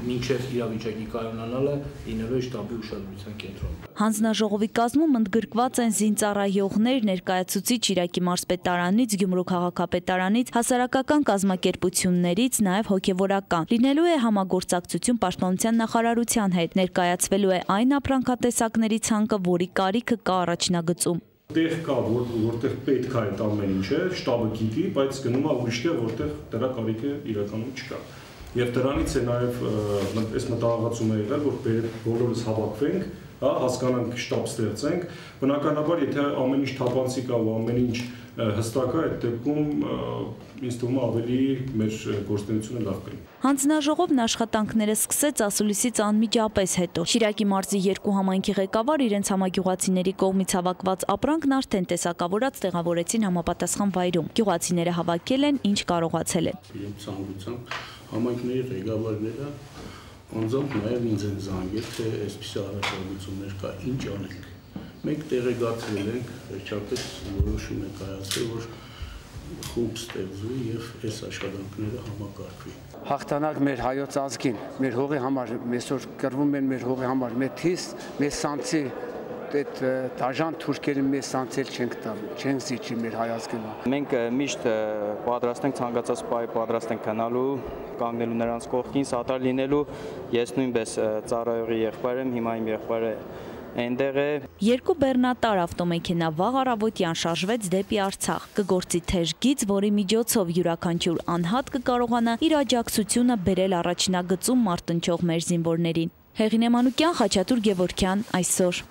մինչև իրավիճակի կայունանալը լինելու է շտաբի ուշադրության կենտրոնում։ Հանձնաժողովի կազմում ընդգրկված են զինծառայողներ, ներկայացուցիչ Շիրակի մարզպետարանից, Գյումրու քաղաքապետարանից, հասարակական կազմակերպություններից, նաև հոգևորական։ Լինելու է համագործակցություն Պաշտպանության նախարարության հետ, ներկայացվելու է այն ապրանքատեսակների ցանկը, որի կարիքը կա առաջնագծում։ Տեղ կա, որտեղ պետք է այդ ամեն ինչը, շտաբը գիտի, բայց գնում է ուրիշ տեղ, որտեղ դրա կարիքը իրականում չկա։ Եվ դրանից է նաև այս մտահղացում է եղել, որ բոլորս հավաքվենք, հասկանանք, շտաբ ստեղծենք։ Բնականաբար, եթե ամեն ինչ թափանցիկ է ու ամեն ինչ հստակ է, այդ դեպքում ինձ թվում է ավելի մեր գործունեությունը լավ կլինի։ Հանձնաժողովն աշխատանքները սկսեց ասուլիսից անմիջապես հետո։ Շիրակի մարզի 2 համայնքի ղեկավար իրենց համագյուղացիների կողմից հավաքված ապրանքն արդեն տեսակավորած տեղավորեցին համապատասխան վայրում։ Գյուղացիները հավաքել են, ինչ կարողացել են։ Իրենց ցանկությամբ համայնքների ղեկավարները անձամբ նաև ինձ են զանգել, թե այսպիսի առաջարկություններ կա, ինչ անենք։ Մենք տեղեկացրել ենք, վերջապես որոշում է կայացել, որ խումբ ստեղծվի եւ այս աշխատանքները համակարգվի։ Հաղթանակ մեր հայոց ազգին, մեր հողի համար, այսօր կռվում են մեր հողի համար, մեր թիս, մեր սանցի, այդ դաժան թուրքերի մեզ սանցել չենք զիջի մեր հայ ազգին։ Մենք միշտ պատրաստ ենք ցանկացած պահի պատրաստ ենք գնալու, կանգնելու նրանց կողքին, սատար լինելու։ Ես նույնպես ծառայողի եղբայր եմ, հիմա իմ եղբայրը այնտեղ է։ 2 բեռնատար ավտոմեքենա վաղ առավոտյան շարժվեց դեպի Արցախ։ Կգործի թեժ գիծ, որի միջոցով յուրաքանչյուր անհատ կկարողանա իր աջակցությունը բերել առաջնագծում մարտնչող մեր զինվորներին։ Հեղինե Մանուկյան, Խաչատուր Գևորգյան, այսօր։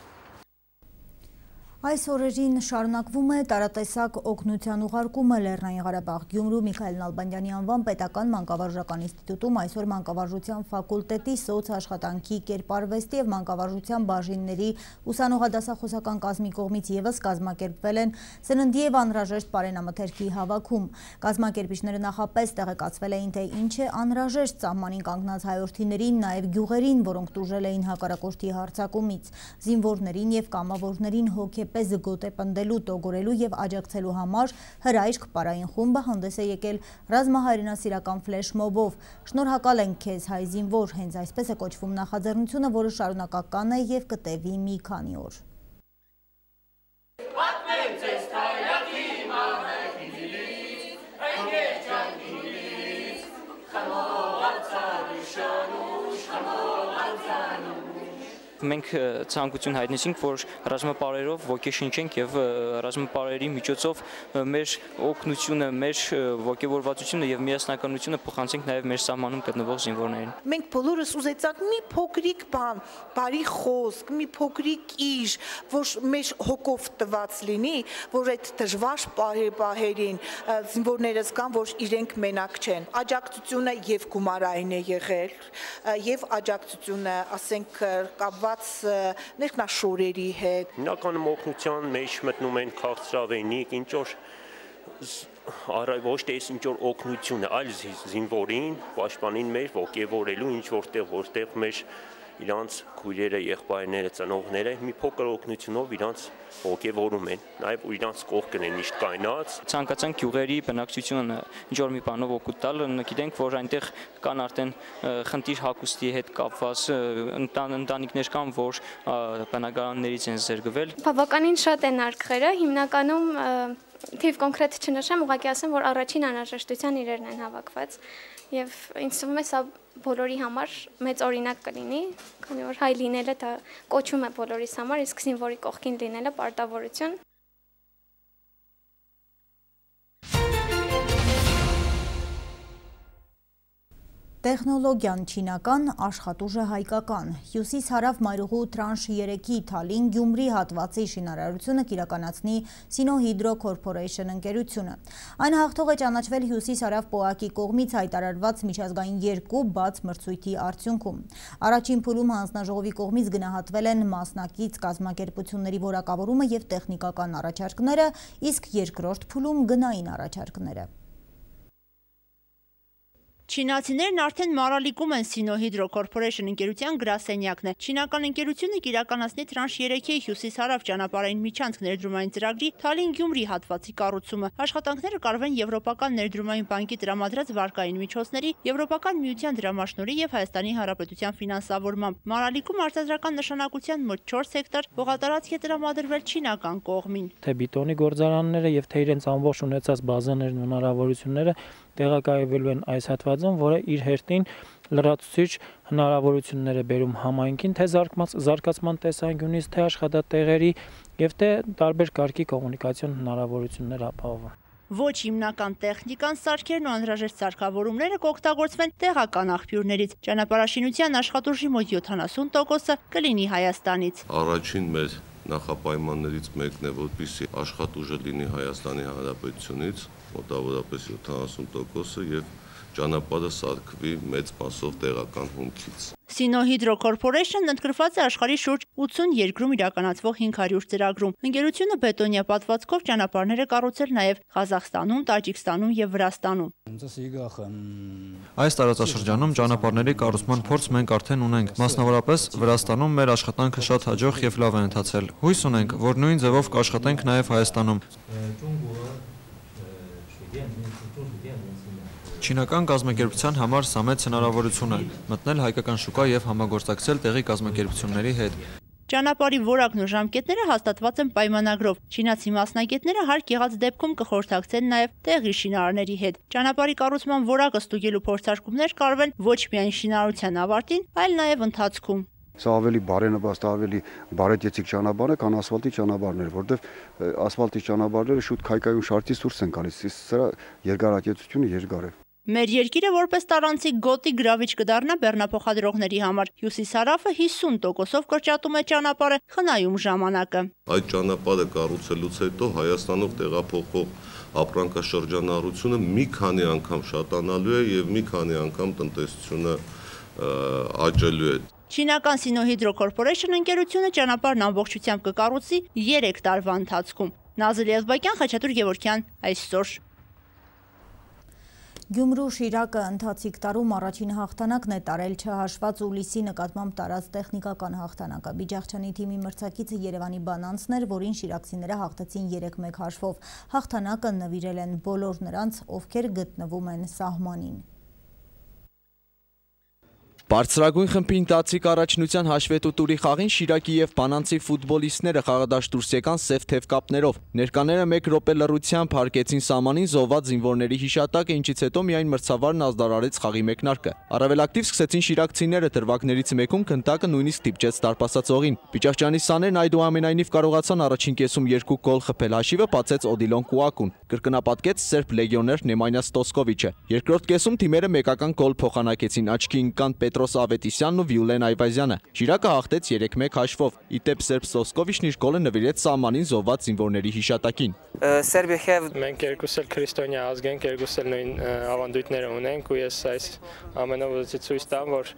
Այս օրերին շարունակվում է տարատեսակ օգնության ուղարկումը Լեռնային Ղարաբաղ Գյումրու Միքայել Նալբանդյանի անվան պետական մանկավարժական ինստիտուտում այսօր մանկավարժության ֆակուլտետի սոցաշխատանքի կերպարվեստի և մանկավարժության բաժինների ուսանողադասախոսական կազմի կողմից ևս կազմակերպվել են սննդի և անհրաժեշտ պարենամթերքի հավաքում։ Կազմակերպիչները նախապես տեղեկացվել էին, թե ինչ է անհրաժեշտ սահմանին կանգնած հայորդիներին, նաև գյուղերին, որոնք տուժել էին հակառակորդի հարձակումից, զինվորներին և կամավորներին հոգեպես զգոտ է պնդելու, տոգորելու և աջակցելու համար հրայրք պարային խումբը հանդես է եկել ռազմահայրենասիրական ֆլեշմոբով։ Շնորհակալ ենք քեզ հայ զինվոր, հենց այսպես է կոչվում նախաձեռնությունը, որը շարունակական է և կտևի մի քանի օր։ Մենք ցանկություն հայտնեցինք, որ ռազմապարերով ոգեշնչենք եւ ռազմապարերի միջոցով մեր օգնությունը, մեր ոգևորվածությունը եւ միասնականությունը փոխանցենք նաեւ մեր սահմանում գտնվող զինվորներին։ Մենք բոլորս ուզեցանք մի փոքրիկ բան, բարի խոսք, մի փոքրիկ իշ, որ մեր հոգով տված լինի, որ այդ դժվար պահերին զինվորներս կան, որ իրենք մենակ չեն։ Աջակցությունը եւ գումարային է եղել, եւ աջակցությունը, ասենք, կապված ներքնաշորերի հետ։ Հիմնականում օգնության մեջ մտնում են քաղցրավենիք, ինչ որ ոչ թե ինչ որ օգնություն, այլ զինվորին, պաշտպանին մեր ոգևորելու ինչ որտեղ մեր իրանց քույրերը, եղբայրները, ծնողները մի փոքր օգնությունով իրանց ոգևորում են, նաև իրանց կողքն են միշտ կայնած։ Ցանկացանք գյուղերի բնակչությունը ինչ որ մի բանով օգուտ տալ, գիտենք, որ այնտեղ կան արդեն խնդիր հագուստի հետ կապված ընտանիքներ կան, որ բնակարաններից են զերգվել։ Բավականին շատ են արկղերը, հիմնականում թիվ կոնկրետ չնշեմ, ուղղակի ասեմ, որ առաջին անհրաժեշտության իրերն են հավաքված եւ ինձ թվում է սա բոլորի համար մեծ օրինակ կլինի, քանի որ հայ լինելը դա կոչում է բոլորիս համար, իսկ զինվորի կողքին լինելը պարտավորություն։ Տեխնոլոգիան չինական, աշխատուժը հայկական։ Հյուսիս-հարավ մայրուղու տրանշ 3-ի Թալին Գյումրի հատվածի շինարարությունը կիրականացնի Sinohydro Corporation ընկերությունը։ Այն հաղթող է ճանաչվել հյուսիս-հարավ պոակի կողմից հայտարարված միջազգային 2 բաց մրցույթի արդյունքում։ Առաջին փուլում հանձնաժողովի կողմից գնահատվել են մասնակից կազմակերպությունների որակավորումը և տեխնիկական առաջարկները, իսկ երկրորդ փուլում գնային առաջարկները։ Չինացիներն արդեն մարալիկում են Sino-Hydro Corporation ընկերության գրասենյակն է։ Չինական ընկերությունը կիրականացնի Tranche 3-ի հյուսիս-հարավ ճանապարհային միջանցք ներդրումային ծրագրի Թալին-Գյումրի հատվածի կառուցումը։ Աշխատանքները կարվեն Եվրոպական ներդրումային բանկի տրամադրած վարկային միջոցների, Եվրոպական միության դրամաշնորհի եւ Հայաստանի Հանրապետության ֆինանսավորմամբ։ Մարալիկում արտադրական նշանակության մոտ 4 հեկտար հողատարածք է տրամադրվել չինական կողմին։ Թե բիտոնի գործարանները եւ թե իրենց ամբողջ ունեցած բազաներն ու հնարավորությունները տեղակայվելու են այս հատվածում, որը իր հերթին լրացուցիչ հնարավորություններ է բերում համայնքին, թե զարգացման տեսանկյունից, թե աշխատատեղերի եւ թե տարբեր կարգի կոմունիկացիոն հնարավորություններ ապահովում։ Ոչ հիմնական տեխնիկան, սարքերն ու անհրաժեշտ սարքավորումները կօգտագործվեն տեղական աղբյուրներից։ Ճանապարհաշինության աշխատուժի մոտ 70%-ը կլինի Հայաստանից։ Առաջին մեր նախապայմաններից մեկն է, որպեսզի աշխատուժը լինի Հայաստանի Հանրապետությունից, մոտավորապես 70%-ը եւ ճանապարհը սարքվի մեծ մասով տեղական հումքից։ Sino-Hydro Corporation-ն ընդգրկված է աշխարհի շուրջ 80 երկրում իրականացվող 500 ծրագրում։ Ընկերությունը բետոնյա պատվածքով ճանապարհներ է կառուցել նաև Ղազախստանում, Տաջիկստանում եւ Վրաստանում։ Այս տարածաշրջանում ճանապարհների կառուցման փորձ մենք արդեն ունենք։ Մասնավորապես Վրաստանում մեր աշխատանքը շատ հաջող եւ լավ է ընթացել։ Հույս ունենք, որ նույն ձևով կաշխատենք նաև Հայաստանում։ Չինական կազմակերպության համար սա մեծ հնարավորություն է մտնել հայկական շուկա եւ համագործակցել տեղի կազմակերպությունների հետ։ Ճանապարհի որակն ու ժամկետները հաստատված են պայմանագրով։ Չինացի մասնագետները հարկ եղած դեպքում կխորհրդակցեն նաև տեղի շինարարների հետ։ Ճանապարհի կառուցման որակը ստուգելու փորձարկումներ կարվեն ոչ միայն շինարարության ավարտին, այլ նաև ընթացքում։ Սա ավելի բարենպաստ, ավելի բարետեցիկ ճանապարհ է, քան ասֆալտի ճանապարհներ, որտեղ ասֆալտի ճանապարհները շուտ քայքայում շարքից դուրս են գալիս, սրա երկարատեցությունը երկար է։ Մեր երկիրը որպես տարանցիկ գոտի գրավիչ կդառնա բեռնափոխադրողների համար։ Հյուսիս-հարավը 50%-ով կրճատում է ճանապարհը, խնայում ժամանակը։ Այդ ճանապարհը կառուցելուց հետո Հայաստանով տեղափոխվող ապրանքաշրջանառությունը մի քանի անգամ շատանալու է եւ մի քանի անգամ տնտեսությունը աճելու է։ Չինական Sino-Hydro Corporation ընկերությունը ճանապարհն ամբողջությամբ կկառուցի 3 տարվա ընթացքում։ Նազել Եղբակյան, Խաչատուր Գևորգյան, այսօր։ Գյումրու Շիրակը ընթացիկ տարում առաջին հաղթանակն է տարել չհաշված Ուլիսի նկատմամբ տարած տեխնիկական հաղթանակը։ Բիջախչյանի թիմի մրցակիցը Երևանի Բանանցն էր, որին շիրակցիները հաղթեցին 3-1 հաշվով։ Հաղթանակը նվիրել են բոլոր նրանց, ովքեր գտնվում են սահմանին։ Բարձրագույն խմբի ընթացիկ առաջնության հաշվետու տուրի խաղին Շիրակի եւ Բանանցի ֆուտբոլիստները խաղադաշտ դուրս եկան սև թև կապներով։ Ներկաները 1 րոպե լռությամբ հարգեցին սահմանին զոհված զինվորների հիշատակը, ինչից հետո միայն մրցավարն ազդարարեց խաղի մեկնարկը։ Առավել ակտիվ սկսեցին շիրակցիները, դրվագներից մեկում քնտակը նույնիսկ դիպչեց տարպասացողին։ Բիճախչյանի սաներն այդուամենայնիվ կարողացան առաջին կեսում 2 գոլ խփել, հաշիվը բացեց Օդիլոն Կուակուն։ Կրկնապատկեց սերբ լեգիոներ Նեմանյա Ստոսկովիչը։ Երկրորդ կեսում թիմերը մեկական գոլ փոխանակեցին, աչքի ընկան Պետրոս Ավետիսյանն ու Վյուլեն Այվազյանը։ Շիրակը հաղթեց 3-1 հաշվով։ Իդեպ սերբ Ստոսկովիչն իր գոլը նվիրեց սահմանին զոհված զինվորների հիշատակին։ Մենք երկուս էլ քրիստոնյա ազգ ենք, երկուս էլ նույն ավանդույթները ունենք ու ես այս ամենով ուզեցի ցույց տամ, որ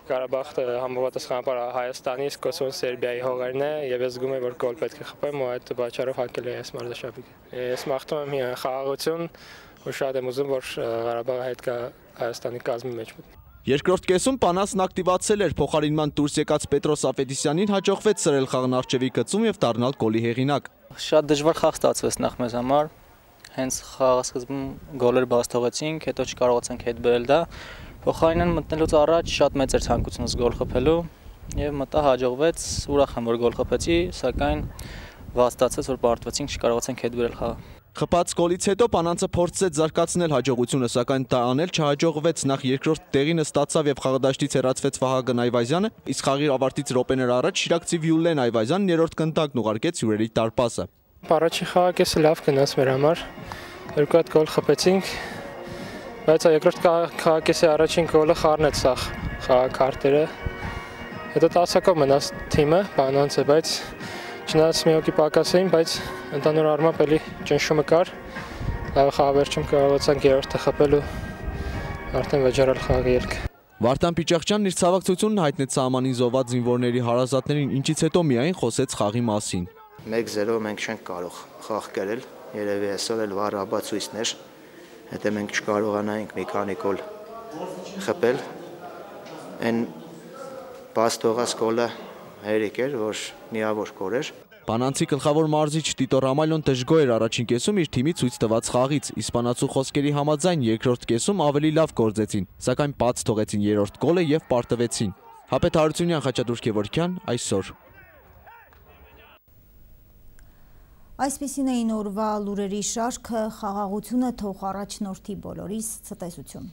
Ղարաբաղը համապատասխանաբար Հայաստանից, Կոսովոն Սերբիայի հողերն է եւ ես զգում եմ, որ գոլ պետք է խփեմ ու այդ պատճառով հակել եմ այս մարզաշապիկը։ Ես մաղթում եմ խաղաղություն ու շատ եմ ուզում, որ Ղարաբաղը հետ կա Հայաստանի կազմի մեջ մտնի։ Երկրորդ կեսում Պանասն ակտիվացել էր, փոխարինման դուրս եկած Պետրոս Ավետիսյանին հաջողվեց սրել խաղն առջևի գծում եւ դառնալ գոլի հեղինակ։ Շատ դժվար խաղ ստացվեց նախ մեզ համար։ Հենց խաղասկզբում գոլեր բաց թողեցինք, հետո չկարողացանք հետ բերել դա։ Փոխարինն մտնելուց առաջ շատ մեծ էր ցանկությունս գոլ խփելու եւ մտա հաջողվեց, ուրախ եմ որ գոլ խփեցի, սակայն վատ ստացվեց որ պարտվեցինք, չկարողացանք հետ բերել խաղը։ Խփած գոլից հետո Պանանցը փորձեց զարգացնել հաջողությունը, սակայն դա անել չհաջողվեց։ Նախ երկրորդ տեղինը ստացավ եւ խաղադաշտից հեռացվեց Վահագն Այվազյանը, իսկ խաղի ավարտից րոպեներ առաջ շիրակցի Վյուլեն Այվազյանն երրորդ կնտակն ուղարկեց հյուրերի տարպասը։ Առաջին խաղակեսը լավ գնաց մեր համար։ 2 հատ գոլ խփեցինք, բայց երկրորդ խաղակեսի առաջին գոլը խառնեց սա խաղակարտերը։ Հետո 10-ակով մնաց թիմը, Բանանցը, բայց չնայած մի հոգի պակաս էին, բայց ընդհանուր առմամբ էլի ճնշումը կար։ Լավ խաղավերջում կարողացանք երրորդը խփել ու արդեն վճարել խաղի ելքը։ Վարդան Պիճախչյանն իր ցավակցությունն հայտնեց սահմանին զոհված զինվորների հարազատներին, ինչից հետո միայն խոսեց խաղի մասին։ 1-0 մենք չենք կարող խաղ կերել, երևի այսօր էլ վառ ապացույցներ, հետո մենք չկարողանայինք մի քանի գոլ խփել։ Այն բաց թողած գոլը հերիք էր, որ միավոր գոլ էր։ Պանանցի գլխավոր մարզիչ Տիտո Ռամալյոն դժգոհ էր առաջին կեսում իր թիմի ցույց տված խաղից։ Իսպանացու խոսքերի համաձայն երկրորդ կեսում ավելի լավ գործեցին, սակայն բաց թողեցին երրորդ գոլը եւ պարտվեցին։ Հապետ Հարությունյան, Խաչատուր Գևորգյան, այսօր։ Այսպիսին էին օրվա լուրերի շարքը, խաղաղությունը թող առաջնորդի բոլորիս ցտեսություն։